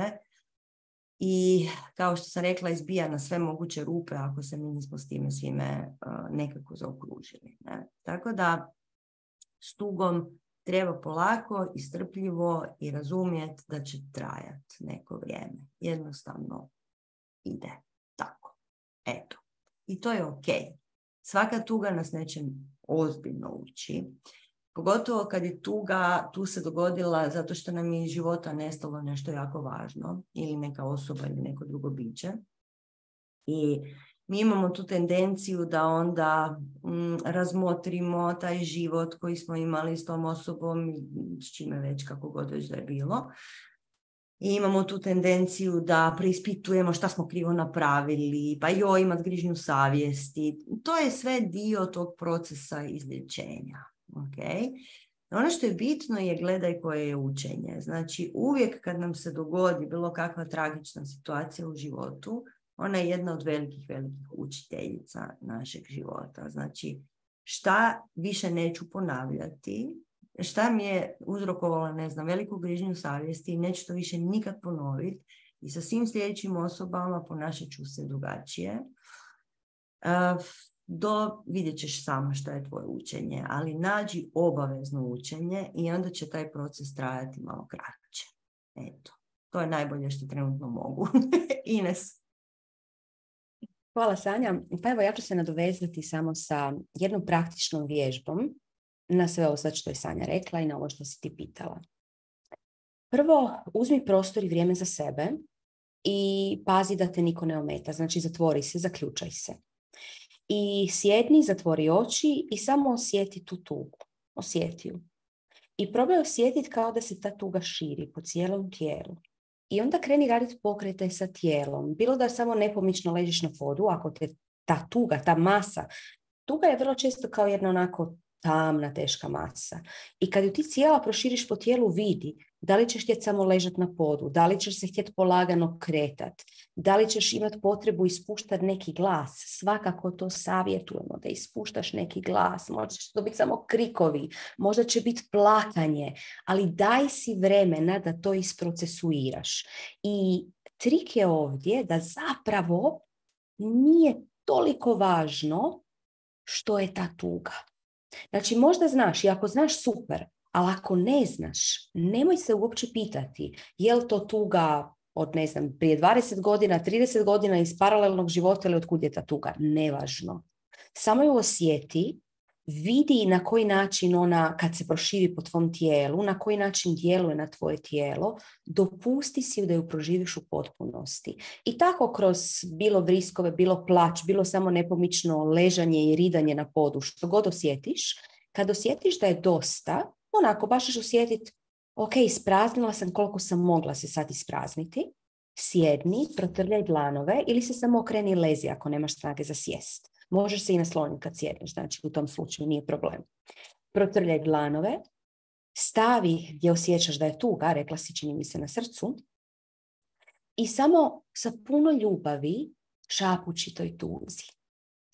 I kao što sam rekla, izbija na sve moguće rupe ako se mi nismo s time svime uh, nekako zaokružili. Ne? Tako da s tugom treba polako i strpljivo i razumjeti da će trajati neko vrijeme. Jednostavno ide tako. Eto. I to je ok. Svaka tuga nas nečem ozbiljno uči. Pogotovo kad je tuga tu se dogodila zato što nam je iz života nestalo nešto jako važno ili neka osoba ili neko drugo biće. I mi imamo tu tendenciju da onda mm, razmotrimo taj život koji smo imali s tom osobom, s čime već kako god već da je bilo. I imamo tu tendenciju da preispitujemo šta smo krivo napravili, pa joj imat grižnju savjesti. To je sve dio tog procesa izlječenja. Okay. Ono što je bitno je gledaj koje je učenje. Znači uvijek kad nam se dogodi bilo kakva tragična situacija u životu, ona je jedna od velikih, velikih učiteljica našeg života. Znači šta više neću ponavljati, šta mi je uzrokovalo, ne znam, veliku grižnju savjesti i neću to više nikad ponoviti i sa svim sljedećim osobama ponašat ću se drugačije. Uh, do vidjet ćeš sama što je tvoje učenje, ali nađi obavezno učenje i onda će taj proces trajati malo kraće. Eto, to je najbolje što trenutno mogu. Ines. Hvala Sanja. Pa evo ja ću se nadovezati samo sa jednom praktičnom vježbom na sve ovo sad što je Sanja rekla i na ovo što si ti pitala. Prvo, uzmi prostor i vrijeme za sebe i pazi da te niko ne ometa. Znači zatvori se, zaključaj se. I sjedni, zatvori oči i samo osjeti tu tugu. Osjeti ju. I probaj osjetiti kao da se ta tuga širi po cijelom tijelu. I onda kreni raditi pokrete sa tijelom. Bilo da samo nepomično ležiš na podu, ako te ta tuga, ta masa, tuga je vrlo često kao jedna onako tamna, teška masa. I kad ju ti cijela proširiš po tijelu, vidi da li ćeš htjeti samo ležati na podu, da li ćeš se htjeti polagano kretati, da li ćeš imati potrebu ispuštati neki glas. Svakako to savjetujemo da ispuštaš neki glas. Možda će to biti samo krikovi, možda će biti plakanje, ali daj si vremena da to isprocesuiraš. I trik je ovdje da zapravo nije toliko važno što je ta tuga. Znači možda znaš i ako znaš super, ali ako ne znaš, nemoj se uopće pitati je li to tuga od, ne znam, prije dvadeset godina, trideset godina iz paralelnog života ili od kud je ta tuga. Nevažno. Samo ju osjeti, vidi na koji način ona, kad se proširi po tvom tijelu, na koji način djeluje na tvoje tijelo, dopusti si da ju proživiš u potpunosti. I tako kroz bilo vriskove, bilo plać, bilo samo nepomično ležanje i ridanje na podu, što god osjetiš, kad osjetiš da je dosta, onako baš ćeš osjetiti, Ok, ispraznila sam koliko sam mogla se sad isprazniti. Sjedni, protrljaj dlanove ili se samo okreni i lezi ako nemaš snage za sjest. Možeš se i nasloniti kad sjedneš, znači u tom slučaju nije problem. Protrljaj dlanove, stavi gdje osjećaš da je tuga, rekla si čini mi se na srcu, i samo sa puno ljubavi šapući toj tuzi.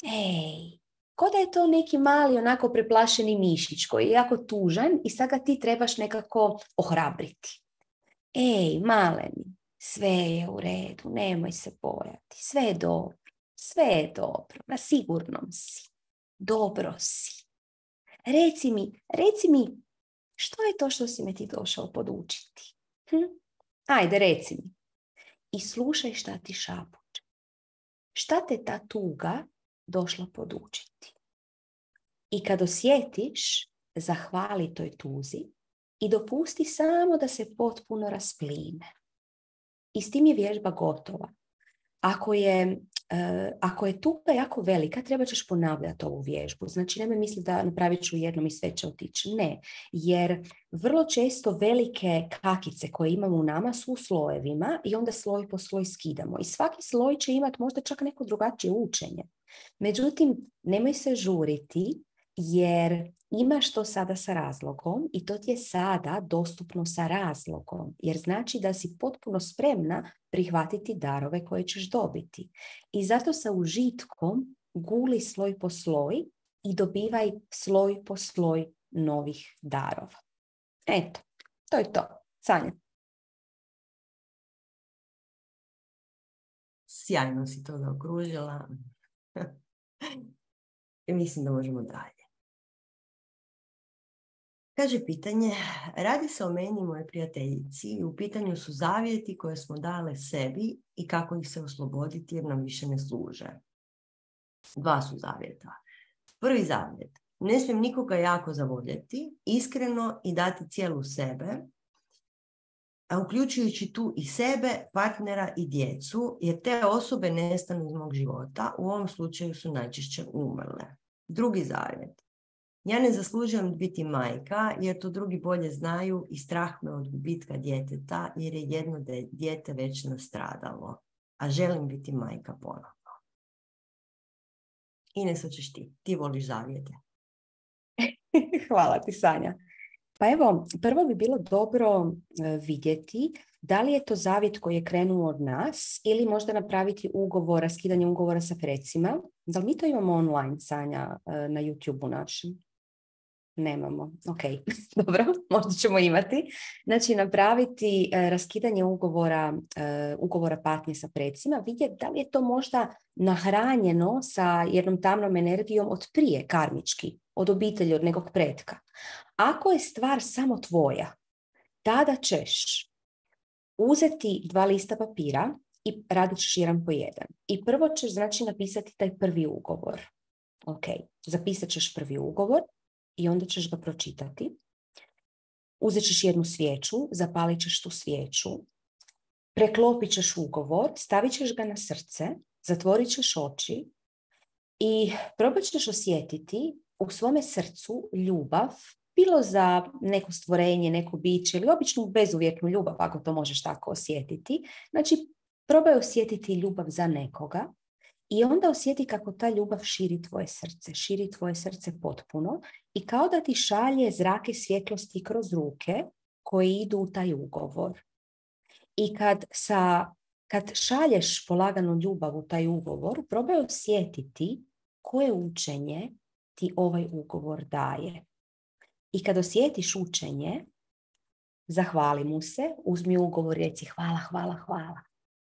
Ej, ko da je to neki mali onako preplašeni mišić koji je jako tužan i sad ga ti trebaš nekako ohrabriti. Ej, maleni, sve je u redu, nemoj se bojati, sve je dobro, sve je dobro, na sigurnom si, dobro si. Reci mi, reci mi, što je to što si me ti došao podučiti? Hm? Ajde, reci mi. I slušaj šta ti šapuće. Šta te ta tuga došla podučiti? I kad osjetiš, zahvali toj tuzi i dopusti samo da se potpuno raspline. I s tim je vježba gotova. Ako je, uh, ako je tuga jako velika, treba ćeš ponavljati ovu vježbu. Znači, nemoj misliti da napravit ću jednom i sve će otići. Ne, jer vrlo često velike kakice koje imamo u nama su u slojevima i onda sloj po sloj skidamo. I svaki sloj će imati možda čak neko drugačije učenje. Međutim, nemoj se žuriti jer imaš to sada sa razlogom i to ti je sada dostupno sa razlogom. Jer znači da si potpuno spremna prihvatiti darove koje ćeš dobiti. I zato sa užitkom guli sloj po sloj i dobivaj sloj po sloj novih darova. Eto, to je to. Sanja. Sjajno si to zaokružila. I mislim da možemo dalje. Kaže pitanje, radi se o meni i moje prijateljici i u pitanju su zavjeti koje smo dale sebi i kako ih se osloboditi jer nam više ne služe. Dva su zavjeta. Prvi zavjet, ne smijem nikoga jako zavoljeti, iskreno i dati cijelu sebe, a uključujući tu i sebe, partnera i djecu, jer te osobe nestanu iz mog života, u ovom slučaju su najčešće umrle. Drugi zavjet. Ja ne zaslužujem biti majka jer to drugi bolje znaju i strah me od gubitka djeteta jer je jedno dijete već nastradalo, a želim biti majka ponovno. Ines, hoćeš ti? Ti voliš zavjete. Hvala ti, Sanja. Pa evo, prvo bi bilo dobro vidjeti da li je to zavjet koji je krenuo od nas ili možda napraviti ugovor, raskidanje ugovora sa precima. Da li mi to imamo online, Sanja, na YouTube-u našem? Nemamo. Ok, dobro, možda ćemo imati. Znači, napraviti uh, raskidanje ugovora, uh, ugovora patnje sa precima, vidjeti da li je to možda nahranjeno sa jednom tamnom energijom od prije, karmički, od obitelji, od nekog pretka. Ako je stvar samo tvoja, tada ćeš uzeti dva lista papira i radit ćeš jedan po jedan. I prvo ćeš, znači, napisati taj prvi ugovor. Ok, zapisat ćeš prvi ugovor. I onda ćeš ga pročitati. Uzet ćeš jednu svijeću, zapalit ćeš tu svijeću, preklopit ćeš ugovor, stavit ćeš ga na srce, zatvorit ćeš oči i probat ćeš osjetiti u svome srcu ljubav, bilo za neko stvorenje, neko biće ili običnu bezuvjetnu ljubav, ako to možeš tako osjetiti. Znači, probaj osjetiti ljubav za nekoga. I onda osjeti kako ta ljubav širi tvoje srce, širi tvoje srce potpuno i kao da ti šalje zrake svjetlosti kroz ruke koje idu u taj ugovor. I kad, sa, kad šalješ polaganu ljubav u taj ugovor, probaj osjetiti koje učenje ti ovaj ugovor daje. I kad osjetiš učenje, zahvali mu se, uzmi ugovor i reci hvala, hvala, hvala.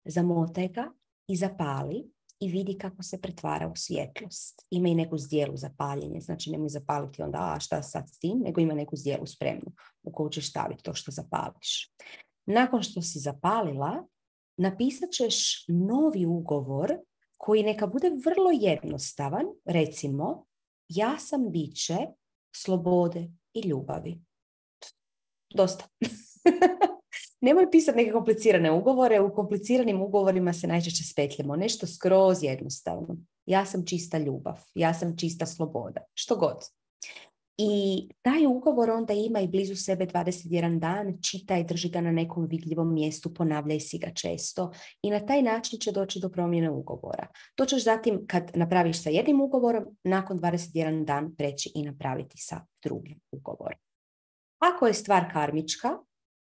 Zamotaj ga i zapali. I vidi kako se pretvara u svjetlost. Ima i neku zdjelu za paljenje, znači nemoj zapaliti onda, a šta sad s tim, nego ima neku zdjelu spremnu u koju ćeš staviti to što zapališ. Nakon što si zapalila, napisat ćeš novi ugovor koji neka bude vrlo jednostavan, recimo, ja sam biće slobode i ljubavi. Dosta. Nemoj pisati neke komplicirane ugovore, u kompliciranim ugovorima se najčešće spetljamo. Nešto skroz jednostavno. Ja sam čista ljubav, ja sam čista sloboda, što god. I taj ugovor onda ima i blizu sebe dvadeset jedan dan, čitaj, drži ga na nekom vidljivom mjestu, ponavljaj si ga često i na taj način će doći do promjene ugovora. To ćeš zatim, kad napraviš sa jednim ugovorom, nakon dvadeset jedan dan preći i napraviti sa drugim ugovorom. Ako je stvar karmička,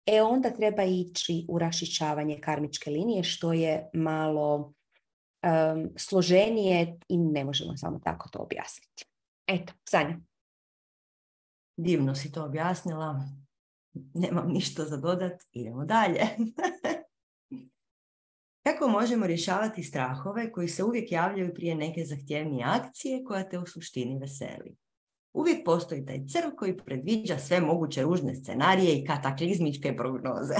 e onda treba ići u raščišćavanje karmičke linije, što je malo um, složenije i ne možemo samo tako to objasniti. Eto, Sanja. Divno si to objasnila. Nemam ništa za dodat. Idemo dalje. Kako možemo rješavati strahove koji se uvijek javljaju prije neke zahtjevnije akcije koja te u suštini veseli? Uvijek postoji taj crv koji predviđa sve moguće ružne scenarije i kataklizmičke prognoze.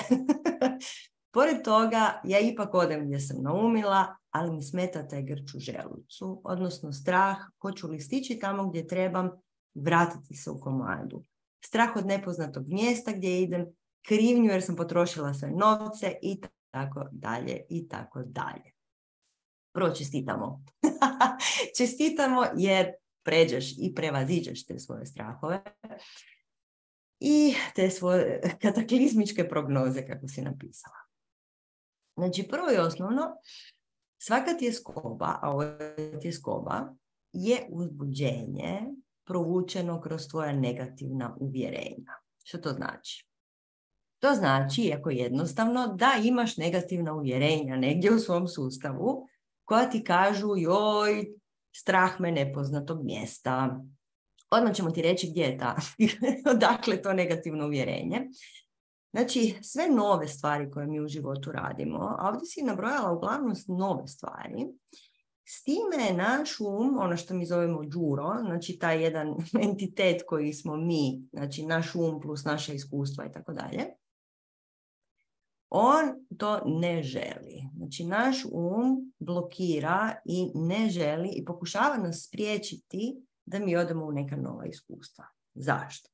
Pored toga, ja ipak odem gdje sam naumila, ali mi smeta taj grč u želucu, odnosno strah, hoću li stići tamo gdje trebam, vratiti se u komadu. Strah od nepoznatog mjesta gdje idem, krivnju jer sam potrošila sve novce i tako dalje i tako dalje. Prvo čestitamo. Čestitamo jer pređeš i prevaziđeš te svoje strahove i te svoje kataklizmičke prognoze, kako si napisala. Znači, prvo i osnovno, svaka tjeskoba, a ovo je tjeskoba, je uzbuđenje provučeno kroz tvoja negativna uvjerenja. Što to znači? To znači, jako jednostavno, da imaš negativna uvjerenja negdje u svom sustavu koja ti kažu, joj, strah me nepoznatog mjesta. Odmah ćemo ti reći gdje je ta, odakle to negativno uvjerenje. Znači, sve nove stvari koje mi u životu radimo, a ovdje si nabrojala uglavnom nove stvari, s time je naš um, ono što mi zovemo đuro, znači taj jedan entitet koji smo mi, znači naš um plus naša iskustva i tako dalje, on to ne želi. Znači, naš um blokira i ne želi i pokušava nas spriječiti da mi odemo u neka nova iskustva. Zašto?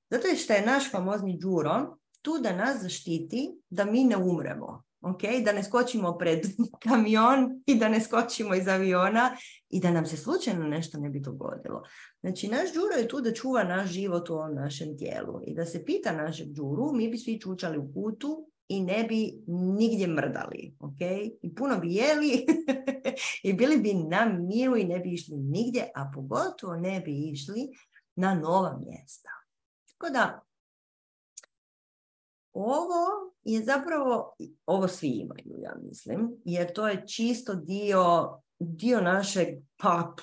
Zato je što je naš famozni đuro tu da nas zaštiti da mi ne umremo. Okay? Da ne skočimo pred kamion i da ne skočimo iz aviona i da nam se slučajno nešto ne bi dogodilo. Znači, naš đuro je tu da čuva naš život u ovom našem tijelu. I da se pita našeg đuru, mi bi svi čučali u kutu i ne bi nigdje mrdali. Okay? I puno bi jeli i bili bi na miru i ne bi išli nigdje, a pogotovo ne bi išli na nova mjesta. Tako da, ovo je zapravo, ovo svi imaju, ja mislim, jer to je čisto dio, dio našeg pa,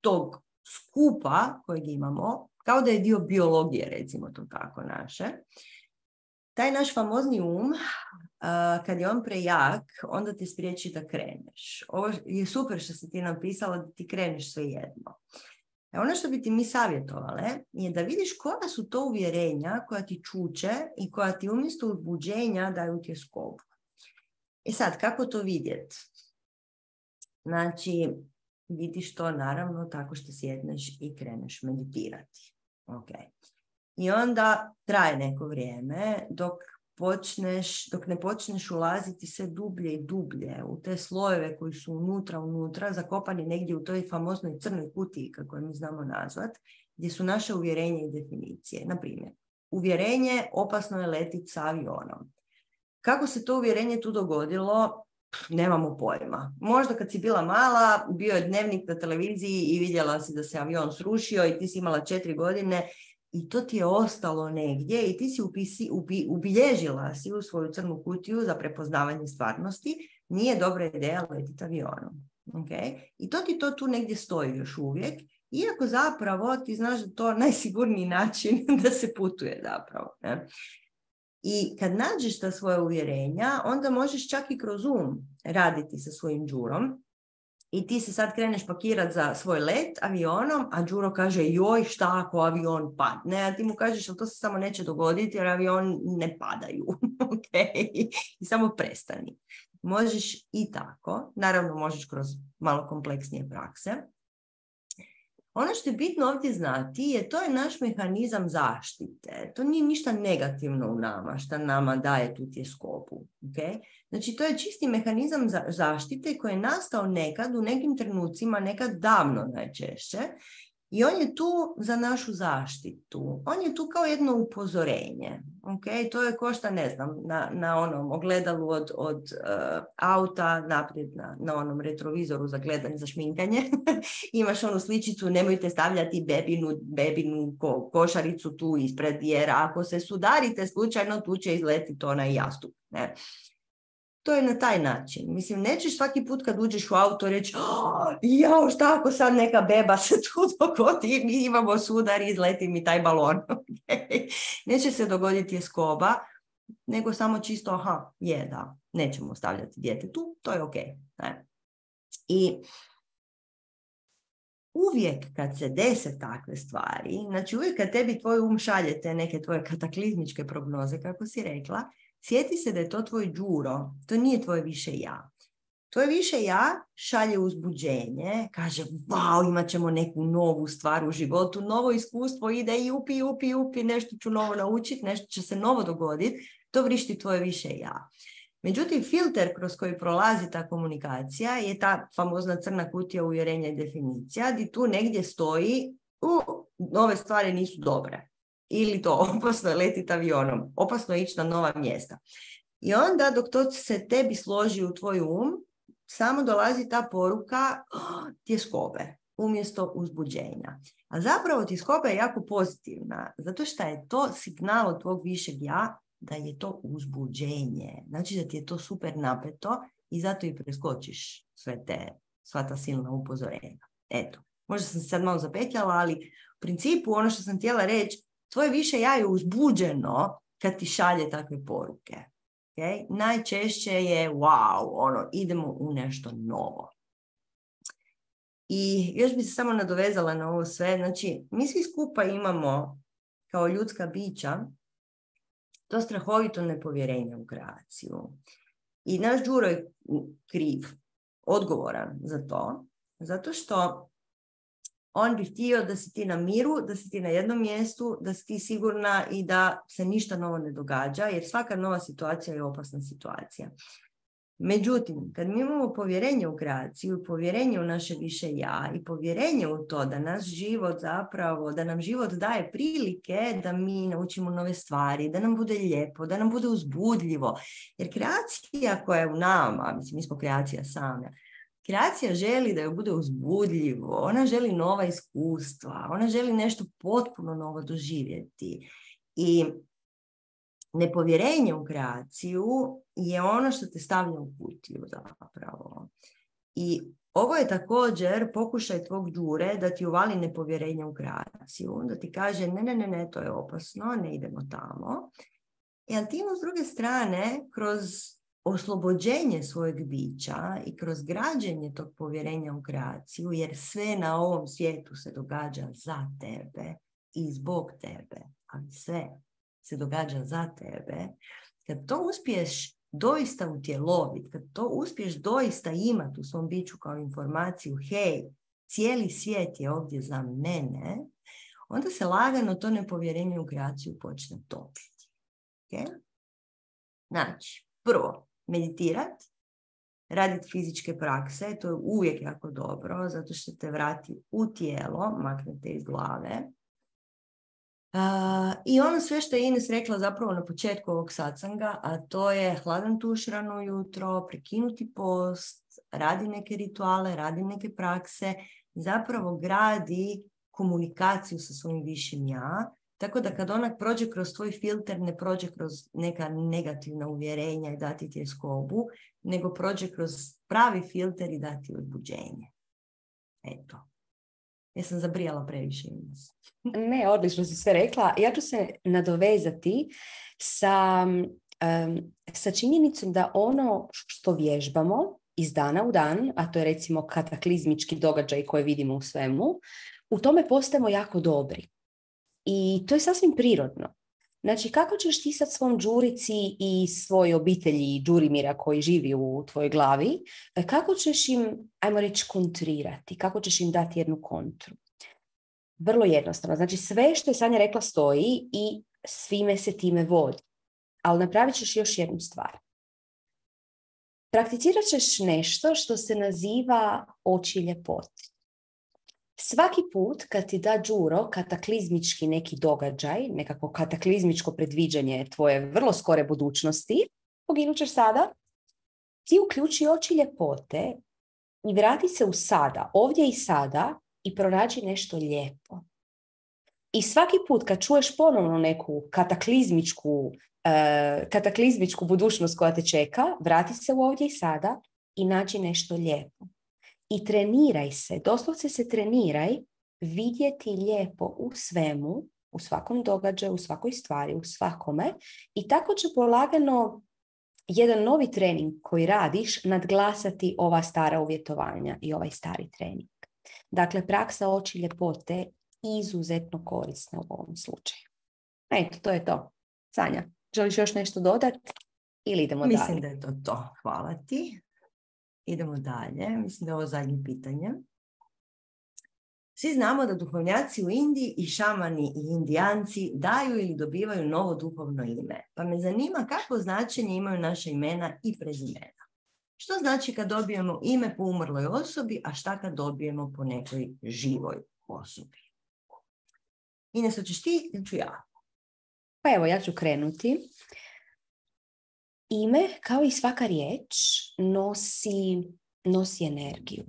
tog skupa kojeg imamo, kao da je dio biologije, recimo to tako naše. Taj naš famozni um, uh, kad je on prejak, onda te spriječi da kreneš. Ovo je super što si ti napisala da ti kreneš svejedno. E ono što bi ti mi savjetovale je da vidiš koja su to uvjerenja koja ti čuče i koja ti umjesto uzbuđenja daju tjeskobu. E sad, kako to vidjeti? Znači, vidiš to naravno tako što sjedneš i kreneš meditirati. Okay. I onda traje neko vrijeme dok počneš, dok ne počneš ulaziti sve dublje i dublje u te slojeve koji su unutra, unutra, zakopani negdje u toj famoznoj crnoj kutiji, kako je mi znamo nazvat, gdje su naše uvjerenja i definicije. Na primjer, uvjerenje opasno je letiti sa avionom. Kako se to uvjerenje tu dogodilo? Nemamo pojma. Možda kad si bila mala, bio je dnevnik na televiziji i vidjela si da se avion srušio i ti si imala četiri godine i to ti je ostalo negdje i ti si upisi, ubi, ubilježila si u svoju crnu kutiju za prepoznavanje stvarnosti. Nije dobra ideja letiti avionom. Okay? I to ti to tu negdje stoji još uvijek, iako zapravo ti znaš da to je najsigurniji način da se putuje zapravo. Ne? I kad nađeš ta svoja uvjerenja, onda možeš čak i kroz um raditi sa svojim đurom. I ti se sad kreneš pakirati za svoj let avionom, a đuro kaže, joj, šta ako avion padne? A ti mu kažeš, ali to se samo neće dogoditi jer avion ne padaju. Okay? I samo prestani. Možeš i tako. Naravno, možeš kroz malo kompleksnije prakse. Ono što je bitno ovdje znati je to je naš mehanizam zaštite. To nije ništa negativno u nama što nama daje tu tjeskobu. Okay? Znači to je čisti mehanizam za zaštite koji je nastao nekad u nekim trenucima, nekad davno najčešće. I on je tu za našu zaštitu. On je tu kao jedno upozorenje. Okay? To je ko šta, ne znam, na, na onom ogledalu od, od uh, auta naprijed na, na onom retrovizoru za gledanje, za šminkanje. Imaš onu sličicu, nemojte stavljati bebinu, bebinu ko, košaricu tu ispred, jer ako se sudarite slučajno, tu će izletiti onaj jastup. Ne? To je na taj način. Mislim, nećeš svaki put kad uđeš u auto reći oh, jao, šta ako sad neka beba se tu dogodi, mi imamo sudar i izleti mi taj balon. Okay. Neće se dogoditi skoba, nego samo čisto, aha, je, da, nećemo stavljati dijete tu, to je ok. Ne? I uvijek kad se dese takve stvari, znači uvijek kad tebi tvoj um šalje te neke tvoje kataklizmičke prognoze, kako si rekla, sjeti se da je to tvoj đuro, to nije tvoje više ja. Tvoje više ja šalje uzbuđenje, kaže, wow, imat ćemo neku novu stvar u životu, novo iskustvo ide i upi, upi, upi, nešto ću novo naučiti, nešto će se novo dogoditi, to vrišti tvoje više ja. Međutim, filter kroz koji prolazi ta komunikacija je ta famozna crna kutija uvjerenja i definicija, gdje tu negdje stoji, u, nove stvari nisu dobre. Ili to, opasno je letiti avionom, opasno je ići na nova mjesta. I onda dok to se tebi složi u tvoj um, samo dolazi ta poruka oh, tjeskobe umjesto uzbuđenja. A zapravo tjeskoba je jako pozitivna, zato što je to signal od tvog višeg ja da je to uzbuđenje. Znači da ti je to super napeto i zato i preskočiš sve te, sva ta silna upozorenja. Eto, možda sam se sad malo zapetljala, ali u principu ono što sam htjela reći, tvoje više ja je uzbuđeno kad ti šalje takve poruke. Okay? Najčešće je wow, ono, idemo u nešto novo. I još bi se samo nadovezala na ovo sve. Znači, mi svi skupa imamo kao ljudska bića to strahovito nepovjerenje u kreaciju. I naš đuro je kriv, odgovoran za to, zato što on bi htio da si ti na miru, da si ti na jednom mjestu, da si ti sigurna i da se ništa novo ne događa, jer svaka nova situacija je opasna situacija. Međutim, kad mi imamo povjerenje u kreaciju, povjerenje u naše više ja i povjerenje u to da nas život zapravo, da nam život daje prilike da mi naučimo nove stvari, da nam bude lijepo, da nam bude uzbudljivo. Jer kreacija koja je u nama, mislim, mi smo kreacija same, kreacija želi da joj bude uzbudljivo, ona želi nova iskustva, ona želi nešto potpuno novo doživjeti. I nepovjerenje u kreaciju je ono što te stavlja u kutiju zapravo. I ovo je također pokušaj tvog đure da ti uvali nepovjerenje u kreaciju, da ti kaže ne, ne, ne, ne, to je opasno, ne idemo tamo. I ali ti s druge strane, kroz oslobođenje svojeg bića i kroz građenje tog povjerenja u kreaciju, jer sve na ovom svijetu se događa za tebe i zbog tebe, ali sve se događa za tebe, kad to uspiješ doista utjeloviti, kad to uspiješ doista imati u svom biću kao informaciju, hej, cijeli svijet je ovdje za mene, onda se lagano to nepovjerenje u kreaciju počne topiti. Okay? Znači, prvo, meditirati, raditi fizičke prakse, to je uvijek jako dobro, zato što te vrati u tijelo, maknete iz glave. Uh, I ono sve što je Ines rekla zapravo na početku ovog satsanga, a to je hladan tuš rano ujutro, prekinuti post, radi neke rituale, radi neke prakse, zapravo gradi komunikaciju sa svojim višim ja, tako da kad ona prođe kroz tvoj filter, ne prođe kroz neka negativna uvjerenja i dati ti tjeskobu, nego prođe kroz pravi filter i dati uzbuđenje. Eto. Ja sam zabrijala previše. Ne, odlično si sve rekla. Ja ću se nadovezati sa, um, sa činjenicom da ono što vježbamo iz dana u dan, a to je recimo kataklizmički događaj koje vidimo u svemu, u tome postajemo jako dobri. I to je sasvim prirodno. Znači, kako ćeš ti sad svom đurici i svoj obitelji đurimira koji živi u tvojoj glavi, kako ćeš im, ajmo reći, kontrirati, kako ćeš im dati jednu kontru? Vrlo jednostavno. Znači, sve što je Sanja rekla stoji i svime se time vodi. Ali napravit ćeš još jednu stvar. Prakticirat ćeš nešto što se naziva oči ljepote. Svaki put kad ti da Đuro kataklizmički neki događaj, nekako kataklizmičko predviđanje tvoje vrlo skore budućnosti, poginut ćeš sada, ti uključi oči ljepote i vrati se u sada, ovdje i sada, i pronađi nešto lijepo. I svaki put kad čuješ ponovno neku kataklizmičku, uh, kataklizmičku budućnost koja te čeka, vrati se u ovdje i sada i nađi nešto lijepo. I treniraj se, doslovce se treniraj vidjeti lijepo u svemu, u svakom događaju, u svakoj stvari, u svakome, i tako će polagano jedan novi trening koji radiš nadglasati ova stara uvjetovanja i ovaj stari trening. Dakle, praksa oči ljepote izuzetno korisna u ovom slučaju. Eto, to je to. Sanja, želiš još nešto dodati ili idemo Mislim dalje? Mislim da je to to. Hvala ti. Idemo dalje. Mislim da je ovo zadnje pitanje. Svi znamo da duhovnjaci u Indiji i šamani i indijanci daju ili dobivaju novo duhovno ime. Pa me zanima kakvo značenje imaju naša imena i prezimena. Što znači kad dobijemo ime po umrloj osobi, a šta kad dobijemo po nekoj živoj osobi? Ines, hoćeš ti ili ću ja? Pa evo, ja ću krenuti. Ime, kao i svaka riječ, nosi, nosi energiju.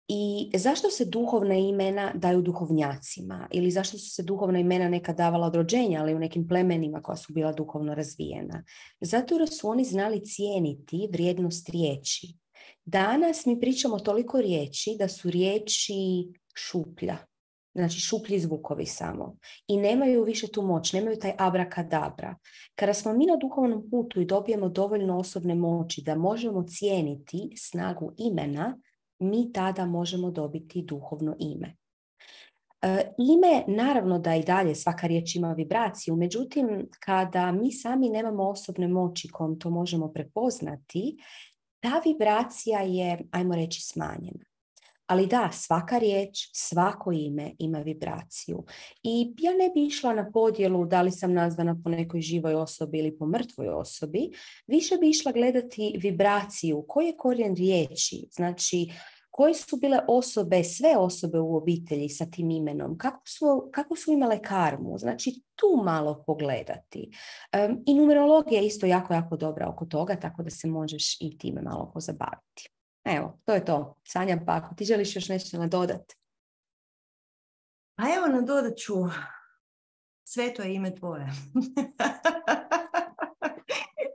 I zašto se duhovna imena daju duhovnjacima? Ili zašto su se duhovna imena nekad davala od rođenja, ali u nekim plemenima koja su bila duhovno razvijena? Zato jer su oni znali cijeniti vrijednost riječi. Danas mi pričamo toliko riječi da su riječi šuplja. Znači šuplji zvukovi samo. I nemaju više tu moć, nemaju taj abrakadabra. Kada smo mi na duhovnom putu i dobijemo dovoljno osobne moći da možemo cijeniti snagu imena, mi tada možemo dobiti duhovno ime. E, ime, naravno da i dalje svaka riječ ima vibraciju, međutim, kada mi sami nemamo osobne moći kojom to možemo prepoznati, ta vibracija je, ajmo reći, smanjena. Ali da, svaka riječ, svako ime ima vibraciju. I ja ne bi išla na podjelu da li sam nazvana po nekoj živoj osobi ili po mrtvoj osobi. Više bi išla gledati vibraciju. Koji je korijen riječi? Znači, koje su bile osobe, sve osobe u obitelji sa tim imenom? Kako su, kako su imale karmu? Znači, tu malo pogledati. Um, I numerologija je isto jako, jako dobra oko toga, tako da se možeš i time malo pozabaviti. Evo, to je to. Sanja, pa ako ti želiš još nešto nadodati? A evo, nadodat ću, sveto je ime tvoje.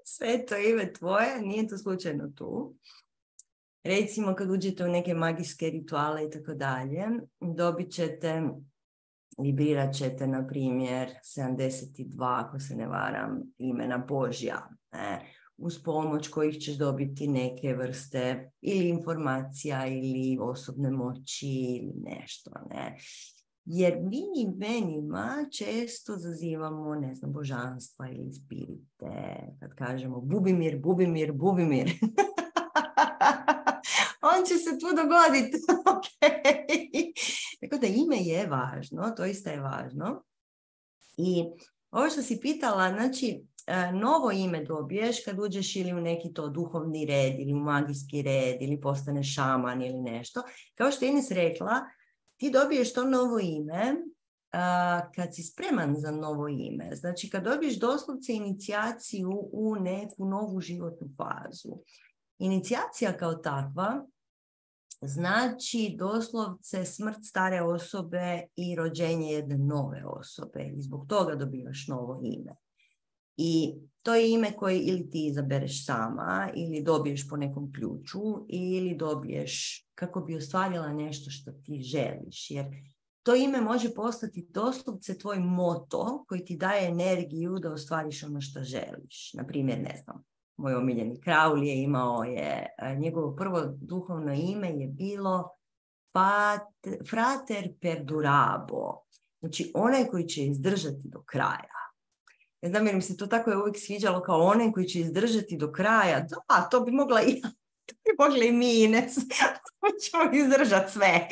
Sveto je ime tvoje, nije to slučajno tu. Recimo kad uđete u neke magijske rituale i tako dalje, dobit ćete, vibrirat ćete, na primjer, sedamdeset dva, ako se ne varam, imena Božja, ne? Uz pomoć kojih ćeš dobiti neke vrste ili informacija ili osobne moći ili nešto, ne. Jer mi imenima često zazivamo, ne znam, božanstva ili spirite, kad kažemo Bubimir, Bubimir, Bubimir. On će se tu dogoditi. Okay. Tako da ime je važno, to isto je važno. I ovo što si pitala, znači, novo ime dobiješ kad uđeš ili u neki to duhovni red ili u magijski red ili postaneš šaman ili nešto. Kao što je Ines rekla, ti dobiješ to novo ime uh, kad si spreman za novo ime. Znači kad dobiješ doslovce inicijaciju u neku novu životnu fazu. Inicijacija kao takva znači doslovce smrt stare osobe i rođenje jedne nove osobe. I zbog toga dobivaš novo ime. I to je ime koje ili ti izabereš sama, ili dobiješ po nekom ključu, ili dobiješ kako bi ostvarila nešto što ti želiš. Jer to ime može postati doslovce tvoj moto koji ti daje energiju da ostvariš ono što želiš. Naprimjer, ne znam, moj omiljeni Crowley je imao je, njegovo prvo duhovno ime je bilo Pat, Frater Perdurabo. Znači onaj koji će izdržati do kraja. Ne znam, jer mi se to tako je uvijek sviđalo kao onaj koji će izdržati do kraja. Da, to bi mogla i ja. To bi mogla i mi, Ines. ćemo izdržati sve.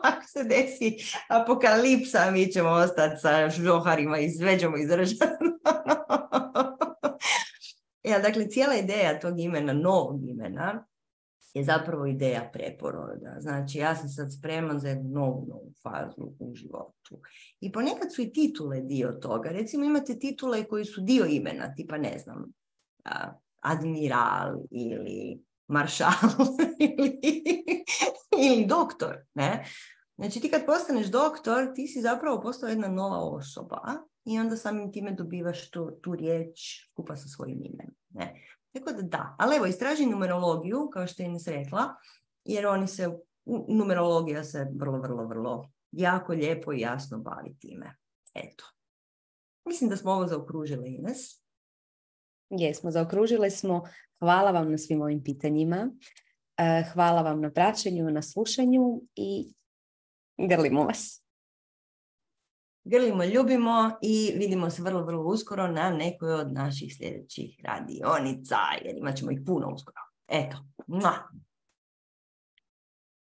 Ako se desi apokalipsa, mi ćemo ostati sa žoharima i sve ćemo izdržati. Ja, dakle, cijela ideja tog imena, novog imena, je zapravo ideja preporoda. Znači, ja sam sad spreman za jednu novu, novu fazu u životu. I ponekad su i titule dio toga. Recimo, imate titule koji su dio imena, tipa, ne znam, admiral ili maršal ili, ili doktor, ne? Znači, ti kad postaneš doktor, ti si zapravo postao jedna nova osoba i onda samim time dobivaš tu, tu riječ skupa sa svojim imenom, ne? Tako da da, ali evo, istraži numerologiju, kao što je Ines rekla, jer oni se, numerologija se vrlo, vrlo, vrlo jako lijepo i jasno bavi time. Eto. Mislim da smo ovo zaokružile, Ines. Jesmo, zaokružile smo. Hvala vam na svim ovim pitanjima. Hvala vam na praćenju, na slušanju i grlimo vas. Grlimo, ljubimo i vidimo se vrlo, vrlo uskoro na nekoj od naših sljedećih radionica, jer imat ćemo ih puno uskoro. Eto. Mua.